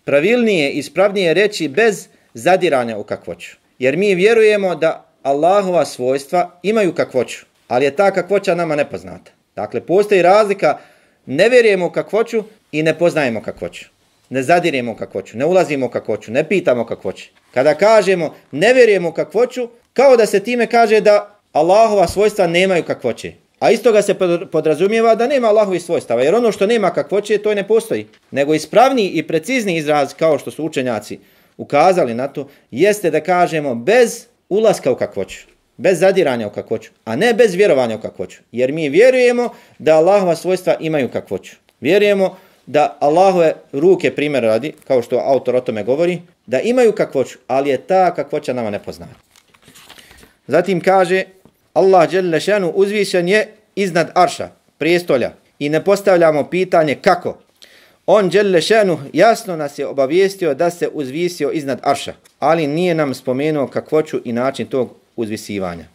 Pravilnije i ispravnije reći bez zadiranja u kakvoću. Jer mi vjerujemo da Allahova svojstva imaju kakvoću, ali je ta kakvoća nama nepoznata. Dakle, postoji razlika, ne vjerujemo u kakvoću i ne poznajemo kakvoću. Ne zadiremo u kakvoću, ne ulazimo u kakvoću, ne pitamo kakvoću. Kada kažemo ne vjerujemo u kakvoću, kao da se time kaže da Allahova svojstva nemaju kakvoće. A isto ga se podrazumijeva da nema Allahovih svojstava, jer ono što nema kakvoće, to ne postoji. Nego ispravniji i precizni izraz, kao što su učenjaci ukazali na to, jeste da kažemo bez ulaska u kakvoću, bez zadiranja u kakvoću, a ne bez vjerovanja u kakvoću. Jer mi vjerujemo da Allahova svojstva imaju kakvoću. Vjerujemo da Allahove ruke, primjer radi, kao što autor o tome govori, da imaju kakvoću, ali je ta kakvoća nama nepoznata. Zatim kaže, Allah dželle šanu uzvišen je iznad arša, prijestolja, i ne postavljamo pitanje kako. On dželle šanu jasno nas je obavijestio da se uzvisio iznad arša, ali nije nam spomenuo kakvoću i način tog uzvisivanja.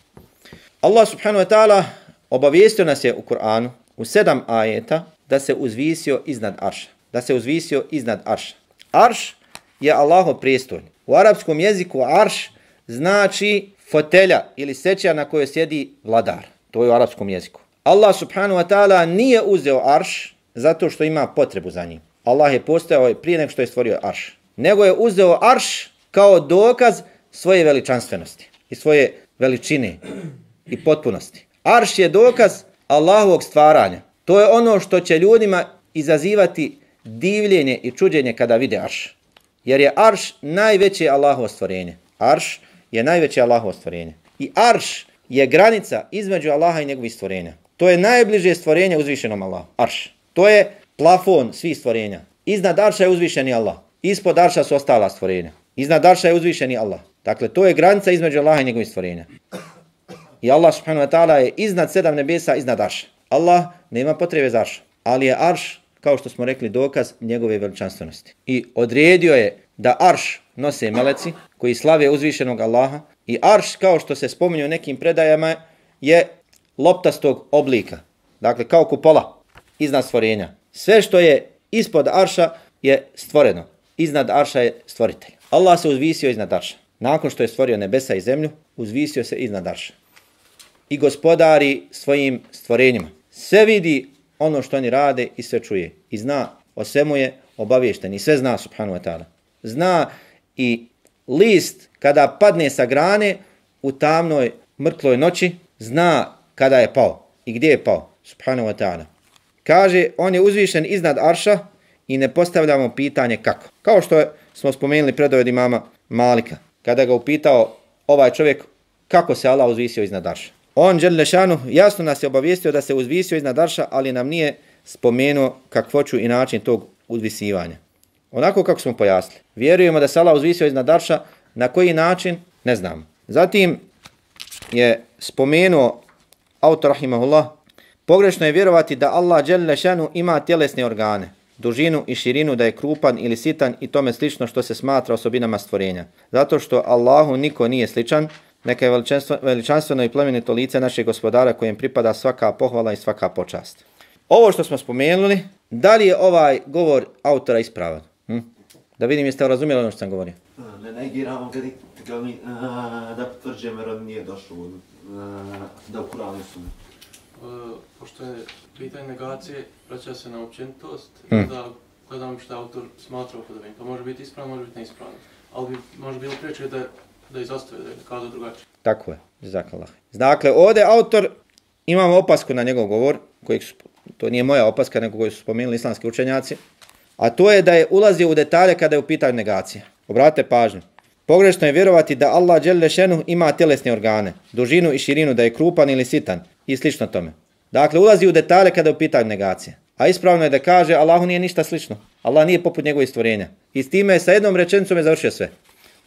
Allah subhanahu wa ta'ala obavijestio nas je u Kur'anu u 7 ajeta da se uzvisio iznad arša. Da se uzvisio iznad arša. Arš je Allahov prijestolj. U arapskom jeziku arš znači fotelja ili sećija na kojoj sjedi vladar. To je u arapskom jeziku. Allah subhanahu wa ta'ala nije uzeo arš zato što ima potrebu za njim. Allah je postojao prije nego što je stvorio arš. Nego je uzeo arš kao dokaz svoje veličanstvenosti i svoje veličine i potpunosti. Arš je dokaz Allahovog stvaranja. To je ono što će ljudima izazivati divljenje i čuđenje kada vide arš. Jer je arš najveće Allahovo stvorenje. Arš je najveće Allahovo stvorenje. I arš je granica između Allaha i njegovih stvorenja. To je najbliže stvorenje uzvišenom Allahu. Arš. To je plafon svih stvorenja. Iznad arša je uzvišeni Allah. Ispod arša su ostala stvorenja. Iznad arša je uzvišeni Allah. Dakle, to je granica između Allaha i njegovih stvorenja. I Allah subhanahu wa ta'ala je iznad 7 nebesa, iznad arša. Allah nema potrebe za arš. Ali je arš, kao što smo rekli, dokaz njegove veličanstvenosti. I odredio je da arš nose meleci koji slave uzvišenog Allaha. I arš, kao što se spominje u nekim predajama, je loptastog oblika. Dakle, kao kupola iznad stvorenja. Sve što je ispod arša je stvoreno. Iznad arša je stvoritelj. Allah se uzvisio iznad arša. Nakon što je stvorio nebesa i zemlju, uzvisio se iznad arša. I gospodari svojim stvorenjima. Sve vidi ono što oni rade i sve čuje. I zna, o svemu je obaviješten. I sve zna, subhanahu wa ta'ala. Zna i list kada padne sa grane u tamnoj mrtloj noći, zna kada je pao i gdje je pao, subhanahu wa ta'ala. Kaže, on je uzvišen iznad arša i ne postavljamo pitanje kako. Kao što smo spomenuli predoved imama Malika, kada ga upitao ovaj čovjek kako se Allah uzvisio iznad arša. On, dželle šanu, jasno nas je obavijestio da se uzvisio iznad arša, ali nam nije spomenuo kakvoću i način tog uzvisivanja. Onako kako smo pojasnili. Vjerujemo da se Allah uzvisio iznad arša, na koji način, ne znamo. Zatim je spomenuo autor rahimahullah, pogrešno je vjerovati da Allah dželle šanu ima tjelesne organe, dužinu i širinu, da je krupan ili sitan i tome slično što se smatra osobinama stvorenja. Zato što Allahu niko nije sličan, neka je veličanstveno i plemenito lice našeg gospodara kojem pripada svaka pohvala i svaka počast. Ovo što smo spomenuli, da li je ovaj govor autora ispravan? Da vidim jeste razumjeli ono što sam govorio. Ne negiramo da potvrđujemo jer on nije došlo da u Kur'anu su. pošto je pitanje negacije, vraća se na općenitost, da gledam što autor smatra upodobim. To može biti ispravno, može biti neispravno. Ali bi može bilo priječe da izostave, da je kazao drugačije. Tako je, jazakallah. Dakle, ovdje autor, imamo opasku na njegov govor, to nije moja opaska, nego koju su spomenuli islamski učenjaci, a to je da je ulazio u detalje kada je u pitanju negacija. Obratite pažnju. Pogrešno je vjerovati da Allah dželle šenuh ima tjelesne organe, dužinu i širinu, da je krupan ili sitan i slično tome. Dakle, ulazi u detalje kada je u pitanju negacija. A ispravno je da kaže Allahu nije ništa slično. Allah nije poput njegovih stvorenja. I s time sa jednom rečenicom je završio sve.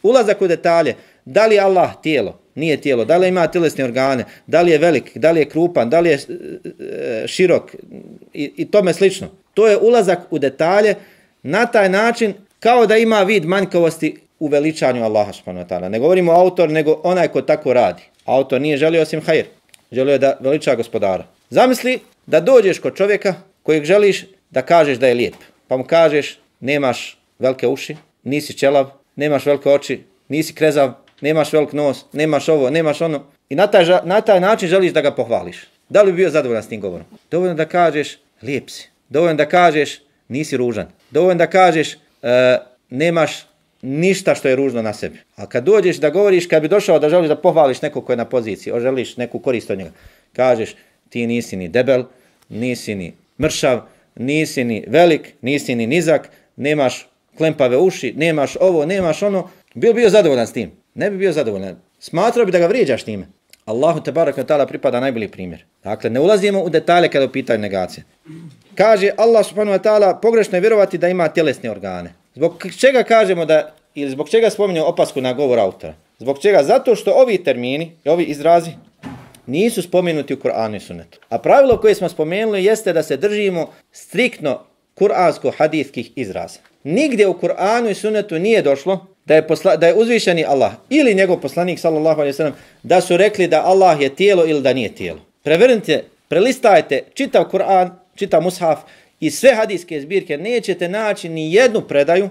Ulazak u detalje, da li je Allah tijelo, nije tijelo, da li ima tjelesne organe, da li je velik, da li je krupan, da li je širok i tome slično. To je ulazak u detalje na taj način kao da ima vid manjkavosti u veličanju Allaha subhanahu wa ta'ala. Ne govorimo autor, nego onaj ko tako radi. Autor nije želio osim hajr. Želio je da veliča gospodara. Zamisli da dođeš kod čovjeka kojeg želiš da kažeš da je lijep. Pa mu kažeš nemaš velike uši, nisi čelav, nemaš velike oči, nisi krezav, nemaš velik nos, nemaš ovo, nemaš ono. I na taj način želiš da ga pohvališ. Da li bi bio zadovoljan s tim govorom? Dovoljno da kažeš lijep si. Dovoljno da kažeš nisi ružan. Dovoljno da kažeš nemaš ništa što je ružno na sebi. A kad dođeš da govoriš, kad bi došao da želiš da pohvališ nekog ko je na poziciji, želiš neku korist od njega, kažeš ti nisi ni debel, nisi ni mršav, nisi ni velik, nisi ni nizak, nemaš klempave uši, nemaš ovo, nemaš ono, bio zadovoljan s tim. Ne bi bio zadovoljan. Smatrao bi da ga vrijeđaš time. Allahu tebaraka ta'ala pripada najbolji primjer. Dakle, ne ulazimo u detalje kada u pitanju negacije. Kaže Allah subhanahu wa ta'ala, pogrešno je vjerovati da ima tjelesne organe. Zbog čega kažemo da, ili zbog čega spominjamo opasku na govor autora? Zbog čega? Zato što ovi termini, ovi izrazi, nisu spomenuti u Kur'anu i Sunnetu. A pravilo koje smo spomenuli jeste da se držimo striktno kuransko-hadijskih izraza. Nigdje u Kur'anu i Sunnetu nije došlo da je uzvišeni Allah ili njegov poslanik sallallahu alejhi ve sellem da su rekli da Allah je tijelo ili da nije tijelo. Prevrnite, prelistajte čitav Kur'an, čitav mushaf i sve hadijske zbirke, nećete naći ni jednu predaju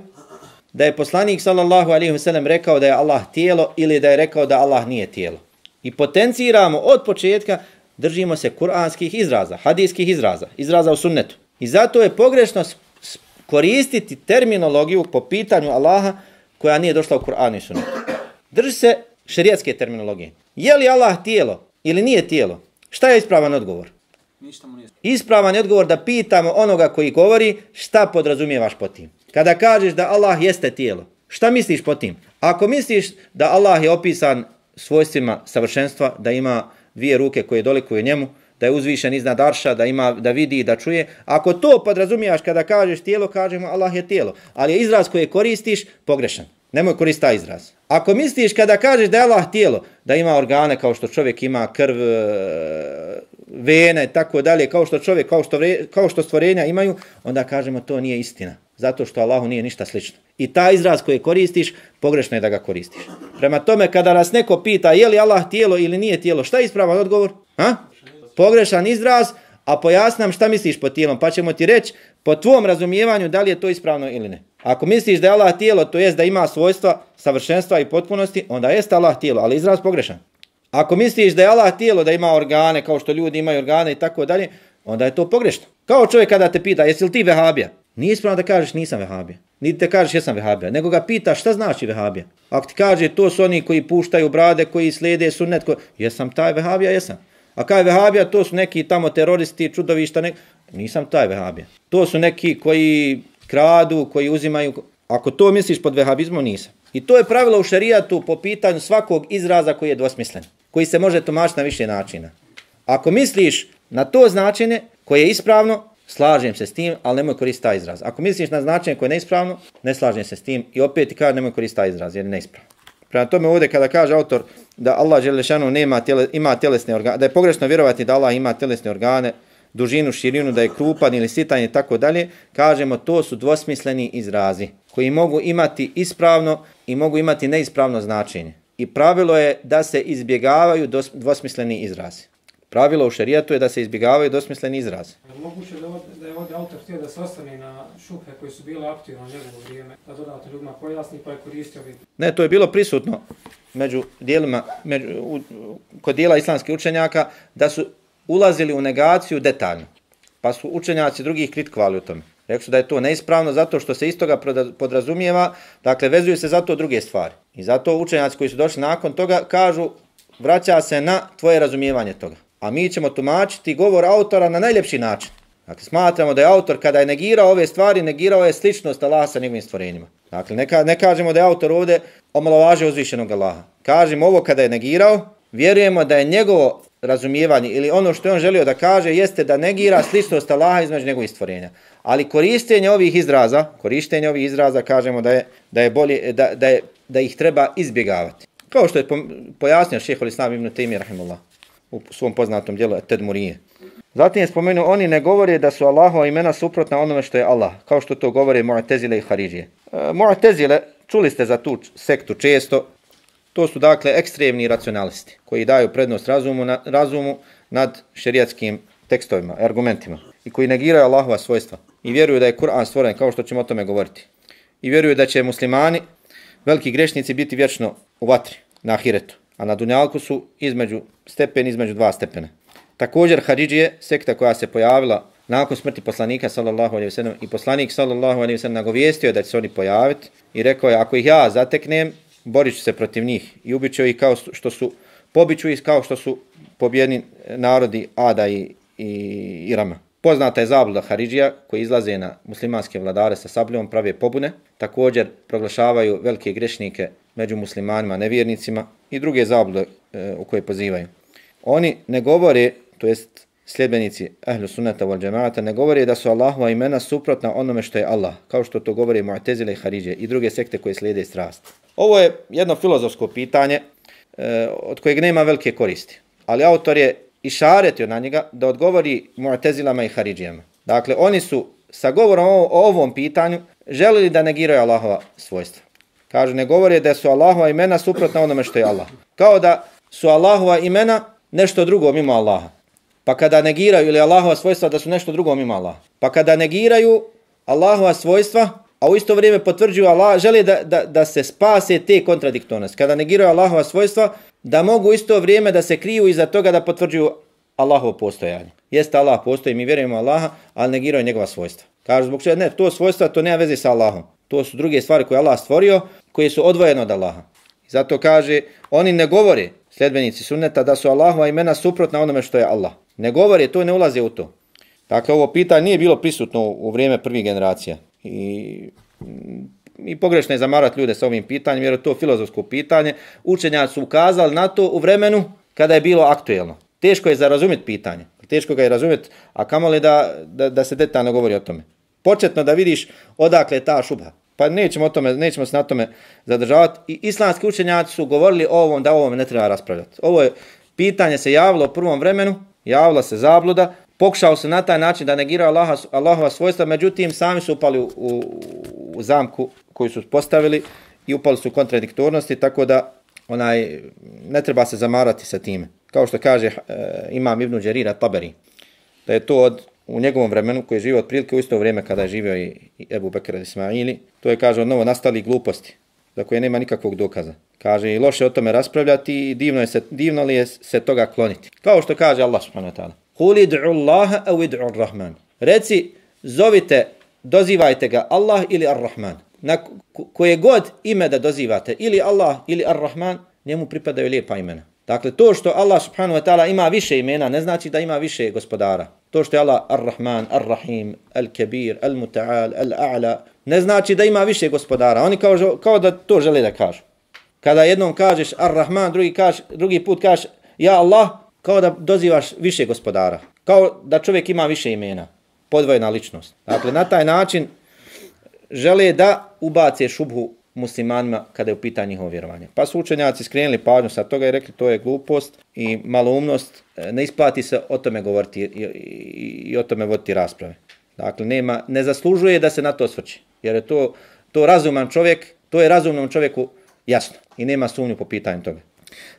da je poslanik sallallahu alejhi ve sellem rekao da je Allah tijelo ili da je rekao da Allah nije tijelo. I potenciramo od početka, držimo se kuranskih izraza, hadijskih izraza u sunnetu. I zato je pogrešno koristiti terminologiju po pitanju Allaha koja nije došla u Kur'anu i sunnetu. Drži se šerijatske terminologije. Je li Allah tijelo ili nije tijelo? Šta je ispravan odgovor? Ispravan je odgovor da pitamo onoga koji govori šta podrazumijevaš po tim. Kada kažeš da Allah jeste tijelo, šta misliš po tim? Ako misliš da Allah je opisan svojstvima savršenstva, da ima dvije ruke koje dolikuju njemu, da je uzvišen iznad arša, da vidi i da čuje, ako to podrazumijevaš kada kažeš tijelo, kažemo Allah je tijelo. Ali je izraz koji koristiš pogrešan. Nemoj koristiti taj izraz. Ako misliš kada kažeš da je Allah tijelo, da ima organe kao što čovjek ima krv, vene i tako dalje, kao što čovjek, kao što stvorenja imaju, onda kažemo to nije istina. Zato što Allahu nije ništa slično. I taj izraz koji koristiš, pogrešno je da ga koristiš. Prema tome, kada nas neko pita je li Allah tijelo ili nije tijelo, šta je ispravan odgovor? Pogrešan izraz, a pojasnam šta misliš pod tijelom, pa ćemo ti reći po tvom razumijevanju da li je to ispravno ili ne. Ako misliš da je Allah tijelo, to jest da ima svojstva, savršenstva i potpunosti, onda jest Allah tijelo, ali izraz pogrešan. Ako misliš da je Allah tijelo, da ima organe kao što ljudi imaju organe i tako dalje, onda je to pogrešno. Kao čovjek kada te pita, jesi li ti vehabija? Nije ispravno da kažeš nisam vehabija. Niti te kažeš jesam vehabija, nego ga pitaš šta znači vehabija. Ako ti kaže to su oni koji puštaju brade, koji slijede sunnet, jesam taj vehabija, jesam. A kaj vehabija, to su neki tamo teroristi, čudovišta, nisam taj vehabija. To su neki koji kradu, koji uzimaju, ako to misliš pod vehabizmom, nisam. I to je pravilo u šerijatu po pitanju svakog izraza koji je dvosmislen, koji se može tumačiti na više načina. Ako misliš na to značenje koje je ispravno, slažem se s tim, ali nemoj koristiti taj izraz. Ako misliš na značenje koje je neispravno, ne slažem se s tim i opet ti kažem nemoj koristiti taj izraz jer je neispravno. Prema tome ovdje kada kaže autor da Allah dželešanu ima tjelesne organe, da je pogrešno vjerovati da Allah ima tjelesne organe, dužinu, širinu, da je krupan ili sitan i tako dalje, kažemo to su dvosmisleni izrazi koji mogu imati ispravno i mogu imati neispravno značenje. I pravilo je da se izbjegavaju dvosmisleni izrazi. Pravilo u šerijatu je da se izbjegavaju dvosmisleni izrazi. Moguće da je ovdje autor htio da se ostane na šubhe koji su bile aktivne u njegovo vrijeme, da dodatno ljudima pojasni pa je koristio vid. Ne, to je bilo prisutno među dijelima, kod dijela islamskih učenjaka, da su ulazili u negaciju detaljno. Pa su učenjaci drugih kritikovali u tome. Rekli su da je to neispravno zato što se iz toga podrazumijeva, dakle vezuju se zato druge stvari. I zato učenjaci koji su došli nakon toga kažu vraća se na tvoje razumijevanje toga. A mi ćemo tumačiti govor autora na najljepši način. Dakle, smatramo da je autor kada je negirao ove stvari, negirao je sličnost Allaha sa njegovim stvorenjima. Dakle, ne kažemo da je autor ovdje omalovažio uzvišenog Allaha. Kažemo ovo kada je negirao, vjerujemo da je njegovo razumijevanje ili ono što je on želio da kaže jeste da negira sličnost Allaha između njegovih stvorenja. Ali korištenje ovih izraza kažemo da je bolje, da ih treba izbjegavati. Kao što je pojasnio šejh al-Islam ibn Tejmije rahimehullah u svom poznatom djelu Tedmurije. Zatim je spomenuo, oni ne govore da su Allahova imena suprotna onome što je Allah, kao što to govore Mu'tezile i Haridžije. Mu'tezile, čuli ste za tu sektu često, to su dakle ekstremni racionalisti koji daju prednost razumu nad šerijatskim tekstovima, argumentima i koji negiraju Allahova svojstva i vjeruju da je Kur'an stvoren, kao što ćemo o tome govoriti. I vjeruju da će muslimani, veliki grešnici, biti vječno u vatri na ahiretu, a na dunjalku su između dva stepena. Također Haridžije, sekta koja se pojavila nakon smrti poslanika sallallahu alejhi ve sellem i poslanik sallallahu alejhi ve sellem nagovijestio da će se oni pojaviti i rekao je ako ih ja zateknem, borit ću se protiv njih i ubiću ih pobiću ih kao što su pobijeni narodi Ada i Irama. Poznata je zabluda Haridžija koji izlaze na muslimanske vladare sa sabljom, prave pobune, također proglašavaju velike grešnike među muslimanima, nevjernicima i druge zablude u koje pozivaju. Oni ne govore, to jest sljedbenici Ahlu Sunnata wal Džemaata, ne govore da su Allahova imena suprotna onome što je Allah, kao što to govore Mu'tezile i Haridžije i druge sekte koje slijede strast. Ovo je jedno filozofsko pitanje od kojeg nema velike koristi, ali autor je išaretio na njega da odgovori Mu'tezilama i Haridžijama. Dakle, oni su sa govorom o ovom pitanju želili da negiraju Allahova svojstva. Kažu, ne govore da su Allahova imena suprotna onome što je Allah. Kao da su Allahova imena nešto drugo mimo Allaha. Pa kada negiraju ili Allahova svojstva da su nešto drugo mimo Allaha. Pa kada negiraju Allahova svojstva, a u isto vrijeme potvrđuju Allah, žele da se spase te kontradiktornosti. Kada negiraju Allahova svojstva, da mogu u isto vrijeme da se kriju iza toga da potvrđuju Allahovo postojanje. Jeste Allah postoji, mi vjerujemo Allaha, ali negiraju njegova svojstva. Kažu zbog čega ne, to svojstva to nema veze sa Allahom. To su druge stvari koje Allah stvorio, koje su odvojene od Allaha. I zato kaže, oni ne govore, sljedbenici sunneta, da su Allahova imena suprotna onome što je Allah. Ne govore, to ne ulaze u to. Dakle, ovo pitanje nije bilo prisutno u vrijeme prvih generacija. I pogrešno je zamarati ljude sa ovim pitanjem, jer je to filozofsko pitanje. Učenjaci su ukazali na to u vremenu kada je bilo aktuelno. Teško je za razumjeti pitanje. Teško ga je razumjeti, a kamoli da se detaljno govori o tome. Početno da vidiš odakle je ta šubha. Pa nećemo se na tome zadržavati. I islamski učenjaci su govorili o ovom, da o ovom ne treba raspravljati. Ovo je pitanje se javilo u prvom vremenu, javila se zabluda, pokušao se na taj način da negiraju Allahova svojstva, međutim sami su upali u zamku koju su postavili i upali su u kontradiktornosti, tako da ne treba se zamarati sa time. Kao što kaže imam Ibn Đerira Taberi, da je to u njegovom vremenu koji je živio otprilike u isto vrijeme kada je živio i Ebu Bekr Ismaili, to je, kaže, od novo nastali gluposti, za koje nema nikakvog dokaza. Kaže, i loše o tome raspravljati i divno li je se toga kloniti. Kao što kaže Allah subhanahu wa ta'ala. Kuli du'u Allaha au id'u Ar-Rahman. Reci, zovite, dozivajte ga Allah ili Ar-Rahman. Na koje god ime da dozivate, ili Allah ili Ar-Rahman, njemu pripadaju lijepa imena. Dakle, to što Allah subhanahu wa ta'ala ima više imena, ne znači da ima više gospodara. To što je Allah Ar-Rahman, Ar-Rahim, Al-Kabir, Al-Muta'al, Al-A'la, ne znači da ima više gospodara. Oni kao da to žele da kažu. Kada jednom kažeš Ar-Rahman, drugi put kažeš Ja Allah, kao da dozivaš više gospodara. Kao da čovjek ima više imena. Podvojena ličnost. Dakle, na taj način žele da ubace šubhu muslimanima kada je u pitanju njihovo vjerovanje. Pa su učenjaci skrenuli pažnju sa toga i rekli to je glupost i maloumnost, ne isplati se o tome govoriti i o tome voditi rasprave. Dakle, ne zaslužuje da se na to osvrće, jer je to razuman čovjek, to je razumnom čovjeku jasno i nema sumnju po pitanju toga.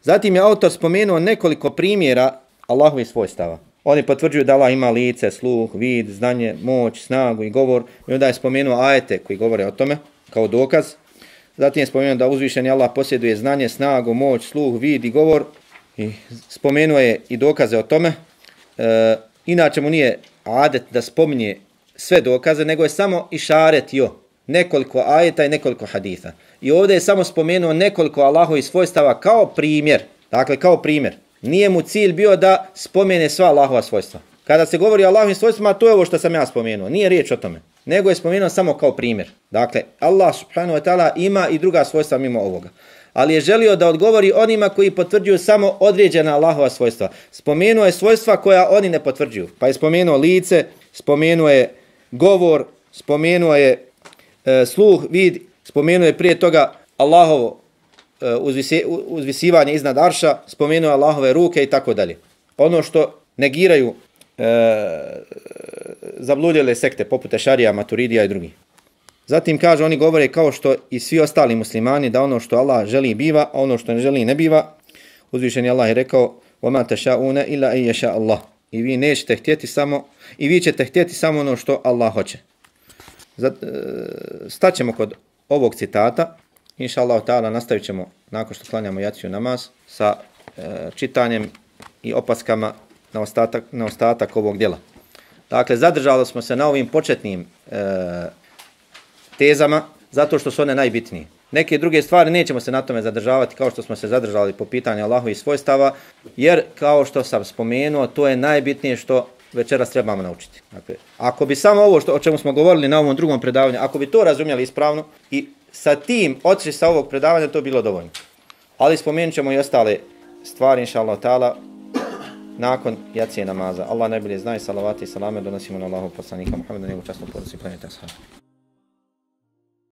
Zatim je autor spomenuo nekoliko primjera Allahovih svojstava. Oni potvrđuju da Allah ima lice, sluh, vid, znanje, moć, snagu i govor. I onda je spomenuo ajete koji govore o tome kao dokaz. Zatim je spomenuo da uzvišeni Allah posjeduje znanje, snagu, moć, sluh, vid i govor. I spomenuo je i dokaze o tome. inače mu nije adet da spominje sve dokaze, nego je samo išaretio nekoliko ajeta i nekoliko haditha. I ovdje je samo spomenuo nekoliko Allahovih svojstava kao primjer. Dakle, kao primjer. Nije mu cilj bio da spomene sva Allahova svojstva. Kada se govori o Allahovim svojstvima, to je ovo što sam ja spomenuo. Nije riječ o tome. Nego je spomenuo samo kao primjer. Dakle, Allah subhanahu wa ta'ala ima i druga svojstva mimo ovoga. Ali je želio da odgovori onima koji potvrđuju samo određena Allahova svojstva. Spomenuo je svojstva koja oni ne potvrđuju. Pa je spomenuo lice, spomenuo je govor, spomenuo je sluh, vid, spomenuo je prije toga Allahovo uzvisivanje iznad arša, spomenuo je Allahove ruke i tako dalje. Ono što negiraju zabludjele sekte poput Ešarija, Maturidija i drugi. Zatim kaže, oni govore kao što i svi ostali muslimani, da ono što Allah želi biva, a ono što ne želi ne biva. Uzvišeni Allah je rekao: وَمَا تَشَاءُونَ إِلَّا أَن يَشَاءَ اللَّهُ. I vi nećete htjeti samo, i vi ćete htjeti samo ono što Allah hoće. Staćemo kod ovog citata. Inša Allah ta'ala nastavit ćemo nakon što klanjamo jaciju namaz sa čitanjem i opaskama na ostatak ovog djela. Dakle, zadržali smo se na ovim početnim tezama zato što su one najbitnije. Neke druge stvari nećemo se na tome zadržavati kao što smo se zadržali po pitanju Allahovih svojstava, jer kao što sam spomenuo, to je najbitnije što večeras trebamo naučiti. Dakle, ako bi samo ovo o čemu smo govorili na ovom drugom predavanju, ako bi to razumjeli ispravno i sa tim otišli sa ovog predavanja, to bilo dovoljno. Ali spomenut ćemo i ostale stvari, inša Allah ta'ala, nakon jacije namaza. Allah najbolje zna i salavati i salame donosimo na Allahov poslanika Muhammeda, njegovu časnu porodicu i planeta ashaba.